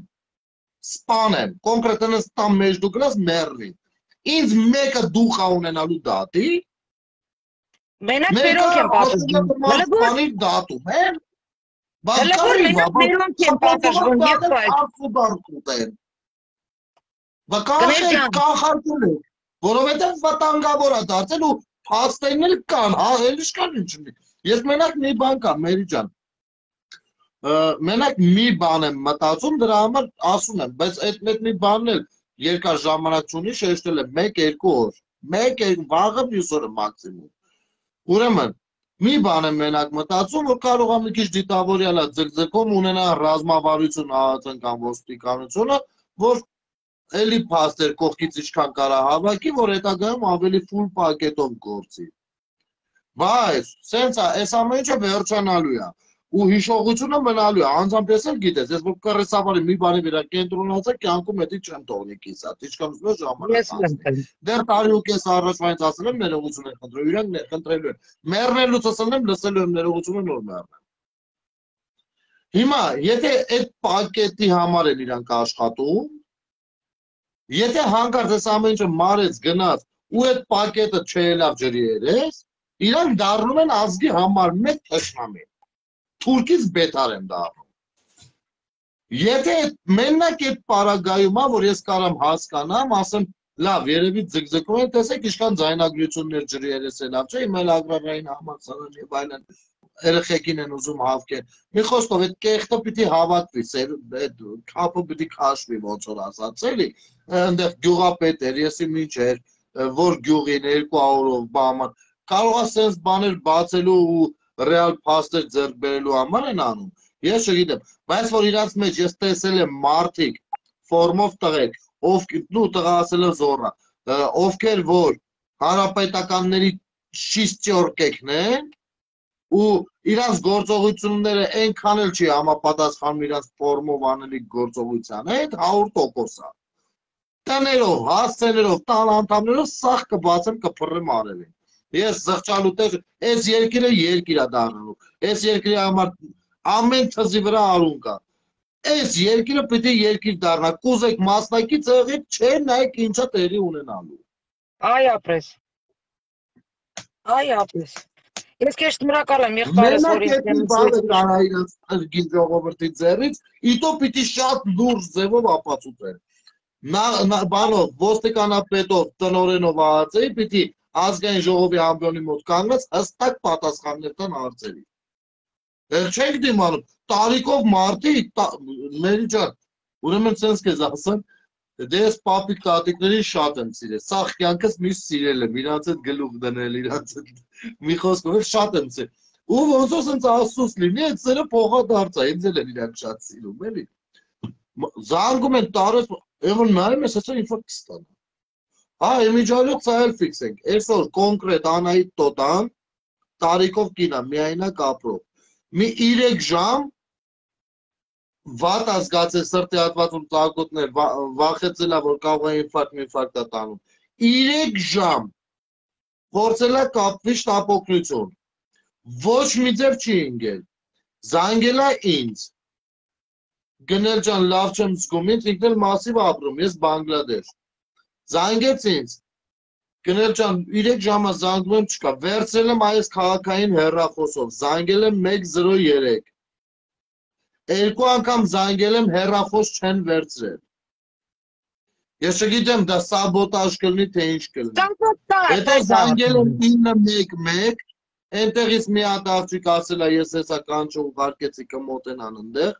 սպանեմ, կոնկրետ ստամ մեջ դու գրած մեռնի։ Ինձ մեկը դուխ ունենալու դատի, մենակ մերոնք են պատժվում։ Սպանի դատում են, Հələ մենակ մերոնք են պատժվում եւ այլ։ Վկանխեք, կանխարկել եք, որովհետև վտանգավոր է դարձել ու փաստերն էլ կան, հա, էլ իշկան ինչ ունի։ Ես մենակ մի բան կա, Մերի ջան, մենակ մի բան եմ մտածում, դրա համար ասում եմ, բայց այդ մի բանն էլ երկար ժամանակ չունի, շեշտել եմ մեկ-երկու օր, մեկ-երկու, վաղը մյուս օրը մաքսիմում։ Ուրեմն, մի բան եմ մենակ մտածում, որ կարող է մի քիչ դիտավորյալ է ձգձգում ունենա ռազմավարություն ԱԱԾ-ն կամ ոստիկանությունը, որ էլի փաստեր կողքից ինչքան կարա հավաքի, որ հետագայում ավելի ֆուլ պակետով գործի։ Բայց, սենց է, այս ամեն ինչը վերջանալու է, ու հիշողությունը մնալու է, անձամբ ես էլ գիտես, ես որ կռեսավարի մի բանի վրա կենտրոնացա, կյանքում հետի չեմ թողնի կիսատ, ինչքան ուզում է ժամանակ անցնի։ Դեռ տարի ու կես առաջվանից ասել եմ ներողություն եմ խնդրել, իրանք խնդրելու են։ Մեռնելուց ասել եմ, լսելու եմ ներողությունը նոր մեռնեմ։ Հիմա, եթե այդ պակետի համար են իրանք աշխատում, եթե հանկարծ այս ամեն ինչը մարեց գնաց ու այդ պակետը չելավ ջրի երես, իրանք դառնում են ազգի համար մեկ թշնամի։ Թուրքից բետար են դառնում։ Եթե մենակ այդ պարագայում է, որ ես կարամ հասկանամ, ասեմ, լավ, երևի ձգձգում են, տեսեք ինչքան ձայնագրություններ ջրի երես է լավ, չէ, իմ էլ ագրարային համալսարան եւ այլն երեխեքին են ուզում հավքեն։ Մի խոսքով այդ կեղտը պիտի հավաքվի, այդ քափը պիտի քաշվի, ոնց որ ասած, էլի, այնտեղ գյուղապետ էր, եսի ինչ էր, որ գյուղին երկու օրով բաման, կարող է սենց բաներ բացելու ու ռեալ փաստեր ձեռք բերելու համար են անում։ Ես չգիտեմ, բայց որ իրանց մեջ ես տեսել եմ մարդիկ ֆորմով տղեկ, ովքեր, նու տղա ասել եմ զոռա, ովքեր որ հանրապետականների շիստյորկեքն են, ու իրանց գործողությունները այնքան էլ չի համապատասխանում իրանց ֆորմով անելիք գործողության հետ, հարյուր տոկոս է։ Տներով, հասցեներով, տան անդամներով սաղ կբացեմ, կփռեմ արևին։ Ես զղջալու տեղ, այս երկիրը երկիր է դառնալու, այս երկրի համար ամեն թզի վրա արուն կա։ Այս երկիրը պիտի երկիր դառնա, կուզեք մասնակից եղեք, չէ նայեք ինչա տեղի ունենալու։ Այ ապրես։ Այ ապրես։ Ես քեզ շնորհակալ եմ եղբայրս, որ ինձ բանը կարա իրենց ըրգին ժողովրդի ձեռից, իտո պիտի շատ լուրջ ձևով ապացուցեն։ Բանով, ոստիկանապետով, տնօրենով ԱԱԾ-ի պիտի ազգային ժողովի ամբիոնի մոտ կանգնած հստակ պատասխաններ տան հարցերի։ Դեռ չենք դիմանում, տարիքով մարդի, Մերի ջան, ուրեմն ցենց քեզ ասեմ, դե ես պապիկ տատիկներին շատ եմ սիրել, սաղ կյանքս միշտ սիրել եմ, իրանց հետ գլուխ դնել, իրանց հետ մի խոսքով շատ եմ սիրել, ու ոնց որ ցենց ասուս լինի, այդ սերը փոխադարձ է, ինձ էլ են իրանք շատ սիրում, էլի։ Զանգում են տարած, եղել նայում ես, ասա ինֆա կստանա։ Հա, իմիջալյոց սայել ֆիքսենք, այսօր կոնկրետ Անահիտ Տոտան, տարիքով կինա, միայնակ ապրող, մի երեք ժամ վատ ազգացել սրտի հատվածում ծակոտներ, վախեցել է, որ կարող է ինֆարկտ, ինֆարկտ է տանում, երեք ժամ փորձել է կապվի շտապօգնություն, Ոչ մի ձև չի ընկել։ Զանգել է ինձ։ Գնել ջան, լավ չեմ զգում, ինձ ինքն էլ մասիվ ապրում, ես Բանգլադեշ։ Զանգեց ինձ։ Գնել ջան, երեք ժամը զանգում եմ չկա։ Վերցրել եմ այս քաղաքային հեռախոսով, զանգել եմ մեկ զրո երեք։ Երկու անգամ զանգել եմ, հեռախոս չեն վերցրել։ Ես չգիտեմ, դա սաբոտաժ կլինի, թե ինչ կլինի։ Հետո զանգել եմ ինը մեկ մեկ, այնտեղից մի հատ աղջիկ ասել է, ես հեսա կանչը ուղարկեցի կմոտենան ընդեղ,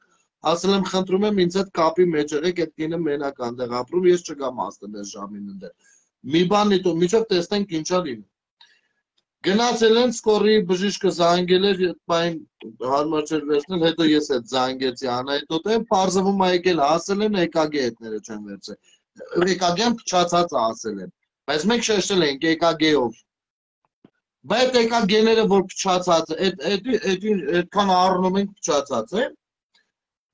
ասել եմ խնդրում եմ ինձ հետ կապի մեջ եղեք, այդ կինը մենակ այնտեղ ապրում, ես չգամ ասել այս ժամին ընդեղ։ Մի բան դիտո, միջով տեսնենք ինչա լինի։ Գնացել են սկորի բժիշկը զանգել էր, այն հարմար չէր վերցնել, հետո ես այդ զանգեցի Անահիտոտին, պարզվում է եկել ասել են E K G հետները չեն վերցրել։ E K G-ն փչացած ասել են, բայց մենք շեշտել ենք E K G-ով։ Բայց E K G-ները որ փչացած, այդքան առնում ենք փչացած է։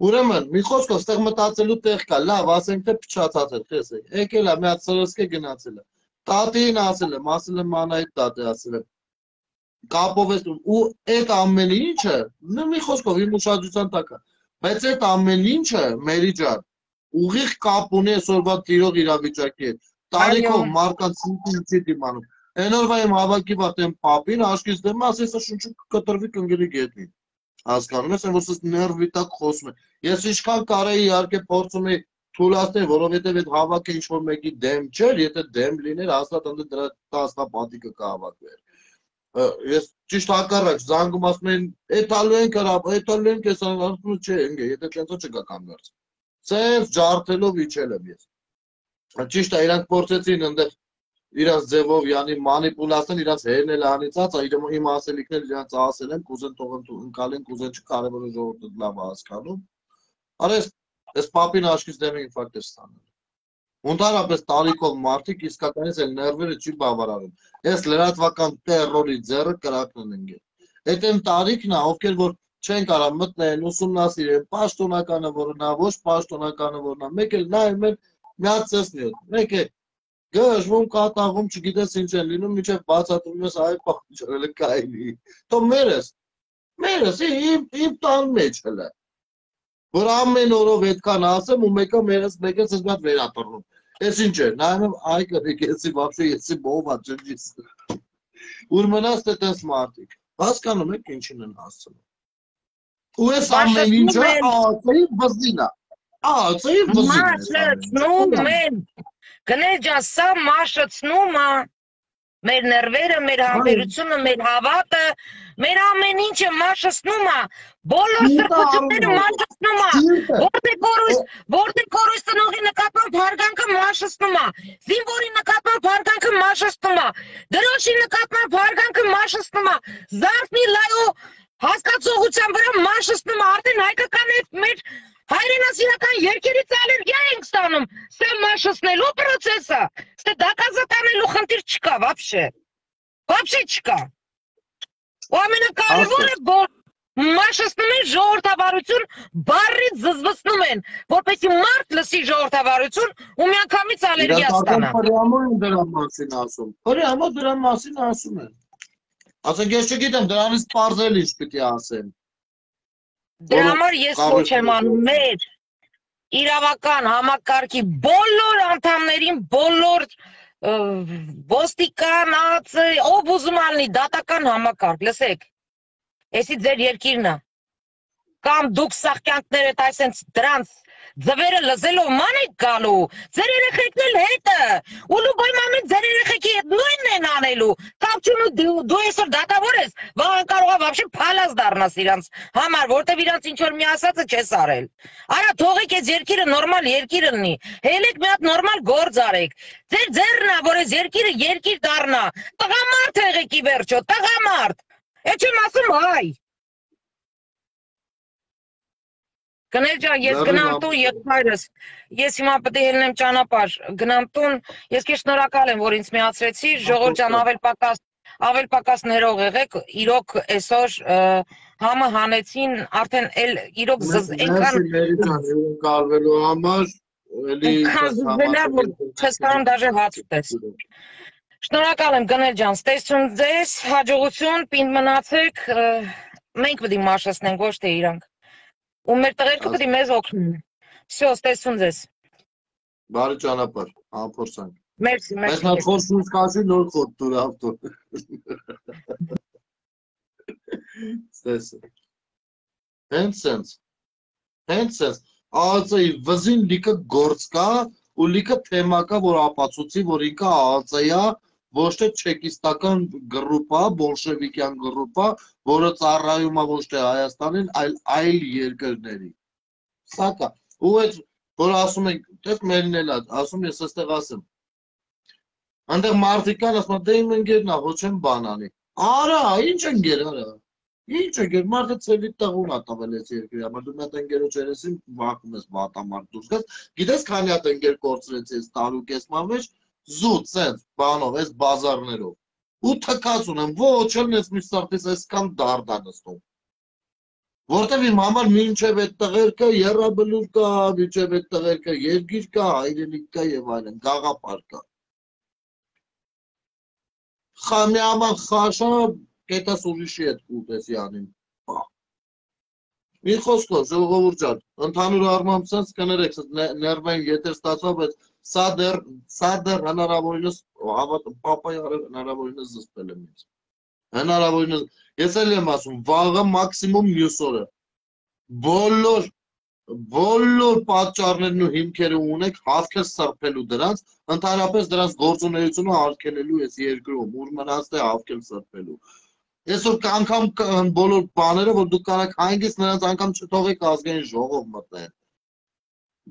Ուրեմն, մի խոսքով, ստեղ մտածելու տեղ կա, լավ, ասենք թե փչացած է, տեսեք, եկել է, մի հատ սրսկե գնացել է, տատին ասել եմ, ասել եմ Անահիտ տատի ասել եմ, կապով ես, ու այդ ամեն ինչը, մի խոսքով, իմ ուշադրության տակ է, բայց այդ ամեն ինչը, մերի ջան, ուղիղ կապ ունի այսօրվա տիրող իրավիճակի հետ, տարիքով մարդկանց ինքնին դիմանում, այն օրվա իմ հավաքի վատ եմ պապին, աշկից դեմ ասես շունչը կտրվի կնգրի գետնին, հասկանում ես, որ սս ներվի տակ խոսում է, ես ինչքան կարեի իհարկե փորձում էի թույլատնել, որովհետև այդ հավաքը ինչ-որ մեկի դեմ չէր, եթե դեմ լիներ, հաստատ ընդ դրա տասնապատիկը կհավաքվեր։ Ես ճիշտ հակառակ զանգում ասում են, «Էթալու ենք հրապ, էթալու ենք ես ասում չէ, ընկե, եթե տենցո չգա կանգարց»։ Սենց ջարդելով իջել եմ ես։ Ճիշտ է, իրանք փորձեցին ընդեղ իրանց ձևով, յանի մանիպուլացնել, իրանց հերն էլ անիծած, իմ ասելիքներ իրանց ասել են, կուզեն թող ընկալեն, կուզեն չկարևորը ժողովուրդը լավ հասկանում։ Արես, ես պապին աշկից դեմ ինֆարկտ էր ստանել։ Ընդհանրապես տարիքով մարդիկ իսկականից էլ ներվերը չի բավարարում։ Ես լրատվական տերորի ձեռը կրակն են ընկել։ Այդ այն տարիքն է, ովքեր որ չեն կարող մտնեն, ուսումնասիրեն, պաշտոնականը որնա, ոչ պաշտոնականը որնա, մեկ էլ նայում են միացեսնի ոտ, մեկ է գժվում, կատաղում, չգիտես ինչ են լինում, միջև բացատրում ես այ պախճարել է կայնի։ Թո մերս, մերս, իմ տան մեջ հլը։ Որ ամեն օրով այդքան ասեմ ու մեկը մերս մեկը զգատ վերապռնում։ Ես ինչ է, նայում եմ այ կրիկ, եսի վապշե, եսի բովա ջնջիս։ Ուր մնաց թե տես մարդիկ, հասկանում եք ինչին են հասցնում։ Ու ես ամեն ինչը աղացեի վզին է, աղացեի վզին է։ Գնել ջան, սա մաշացնում է մեր ներվերը, մեր համբերությունը, մեր հավատը, մեր ամեն ինչը մաշացնում է, բոլոր սրբությունները մաշացնում է, որտեղ կորույս ծնողի նկատմամբ հարգանքը մաշացնում է, զինվորի նկատմամբ հարգանքը մաշացնում է, դրոշի նկատմամբ հարգանքը մաշացնում է, զարթնի լայո հասկացողության վրա մաշացնում է, արդեն հայկական է մեր հայրենասիրական երկերից ալերգիա ենք ստանում, սա մաշացնելու պրոցեսը, սա դակազատանելու խնդիր չկա, վապշե, վապշե չկա, ու ամենակարևորը, որ մաշացնում են ժողովրդավարություն, բառից զզվացնում են, որպեսզի մարդ լսի ժողովրդավարություն ու միանգամից ալերգիա ստանա։ Իրականում դրա մասին ասում, հրամա դրա մասին ասում են, ասենք ես չգիտեմ, դրանից պարզել ինչ պիտի ասեմ։ Դրա համար ես ոչ եմ անում մեր իրավական համակարգի բոլոր անդամներին, բոլոր ոստիկան, ով ուզում ալնի դատական համակարգ, լսեք, էսի ձեր երկիրն է, կամ դուք սաղկյանքներդ այսենց դրանց ձվերը լզելով ման եք գալու, ձեր երեխեքն էլ հետը, ու լուբայմամին ձեր երեխեքի հետ նույնն են անելու, կապ չունի դու այսօր դատավոր ես, վաղը կարող է վաբշե փալած դառնաս իրանց համար, որտեվ իրանց ինչ որ մի ասածը չես արել։ Արա թողեք այս երկիրը նորմալ երկիր լինի, հելեք մի հատ նորմալ գործ արեք, ձեր ձեռն է, որ այս երկիրը երկիր դառնա, տղամարդ եղեք ի վերջո, տղամարդ, այդ չեմ ասում հայ։ Գնել ջան, ես գնամ տուն եղբայրս, ես հիմա պետք է ելնեմ ճանապարհ, գնամ տուն, ես քեզ շնորհակալ եմ, որ ինձ միացրեցի, ժողովուրդ ջան, ավել պակաս, ավել պակաս ներող եղեք, իրոք այսօր համը հանեցին, արդեն էլ իրոք այնքան կարվելու համար, էլի չես կարող դաժե հաց ուտես։ Շնորհակալ եմ Գնել ջան, ստեսություն ձեզ, հաջողություն, պինդ մնացեք, մենք պետք է մաշեցնենք, ոչ թե իրանք։ Ու մեր տղերքը պետք է մեզ օգնեն։ Всё, ստեսություն ձեզ։ Բարի ճանապարհ, համփորձանք։ Մերսի, մերսի։ Բայց նա խոսում սկացի նոր խոտ դուր ավտո։ Ստես։ Հենց սենց։ Հենց սենց։ ԱԱԾ-ի վզին լիքը գործ կա ու լիքը թեմա կա, որ ապացուցի, որ ինքը ԱԱԾ-յա, ոչ թե չեկիստական գրուպ է, բոլշևիկյան գրուպ է, որը ծառայում է ոչ թե Հայաստանին, այլ այլ երկրների։ Սա կա։ Ու այդ որ ասում եք, դες մերն էլ ասում ես այստեղ ասեմ։ Այնտեղ մարդիկ կան, ասում են, դե իմ ընկերն է, ոչ եմ բան անի։ Արա, ինչ ընկեր, արա։ Ինչ ընկեր, մարդը ցելի տղուն ա տվել այս երկրի համար, դու մոտ ընկերոջ երեսին վախում ես վատամարդ դուրս գաս։ Գիտես քանի հատ ընկեր կորցրեց այս տարուկես մանվեջ, զուտ, սենց, բանով, այս բազարներով։ Ու թքած ունեմ, ոչ էլ ես մի սարտից այսքան դարդ ա նստում։ Որտեւ իմ համար մինչև այդ տղերքը երրաբլուր կա, մինչև այդ տղերքը երկիր կա, հայրենիք կա եւ այլն, գաղափար կա։ Խամյաման խաշա կետաս ուրիշի հետ կուտեսի անին։ Մի խոսքով, ժողովուրդ ջան, ընդհանուր առմամբ sense կներեք, ներվային եթեր ստացա, բայց սա դեռ սա դեռ հնարավորինս հավատում, պապայի արել հնարավորինս զսպել եմ ինձ։ Հնարավորինս ես էլ եմ ասում, վաղը մաքսիմում մյուս օրը։ Բոլոր բոլոր պատճառներն ու հիմքերը ունեք հավքեր սրբելու դրանց, ընդհանրապես դրանց գործունեությունը արգելելու այս երկրում, ուր մնաց թե հավքեր սրբելու։ Այսօր անգամ բոլոր բաները, որ դուք կարաք հանգիստ նրանց անգամ չթողեք ազգային ժողով մտնեն։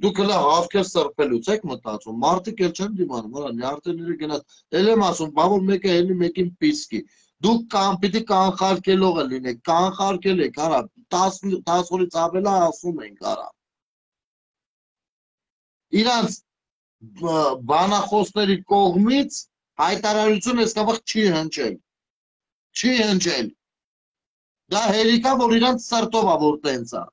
Դուք հլը հավքեր սրբելուց եք մտածում, մարդիկ էլ չեն դիմանում, հələ նյարդերները գնաց, էլ եմ ասում, բա որ մեկը ելի մեկին պիսկի։ Դուք կան պիտի կանխարգելողը լինեք, կանխարգել եք, արա, տասը օրից ավել է ասում ենք, արա։ Իրանց բանախոսների կողմից հայտարարություն այսքան չի հնչել։ Չի հնչել։ Դա հերիք է, որ իրանց սրտով է, որ տենց է։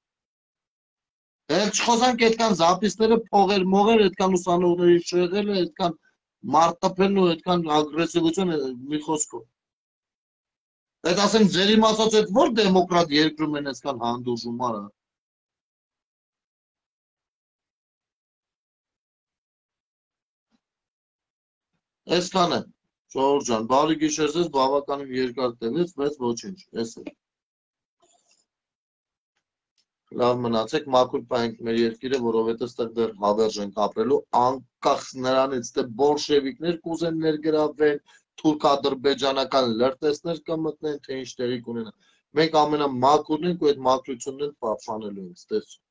Էլ չխոսանք այդքան զապիսները փողեր, մողեր, այդքան ուսանողների շեղելը, այդքան մարդ տպելն ու այդքան ագրեսիվություն մի խոսքով։ Այդ ասենք ձեր իմացած այդ որ դեմոկրատ երկրում են այսքան հանդուրժում արա։ Այսքան է, ժողովուրդ ջան, բարի գիշեր ձեզ, բավականին երկար տևեց, բայց ոչինչ, էս է։ Լավ մնացեք, մաքուր պահենք մեր երկիրը, որովհետև ստեղ դեռ հավերժ ենք ապրելու, անկախ նրանից, թե բոլշևիկներ կուզեն ներգրավեն, թուրք-ադրբեջանական լրտեսներ կմտնեն, թե ինչ տեղի կունենա։ Մենք ամենամաքուրն ենք ու այդ մաքրությունն են պահպանելու ենք, ստեսություն։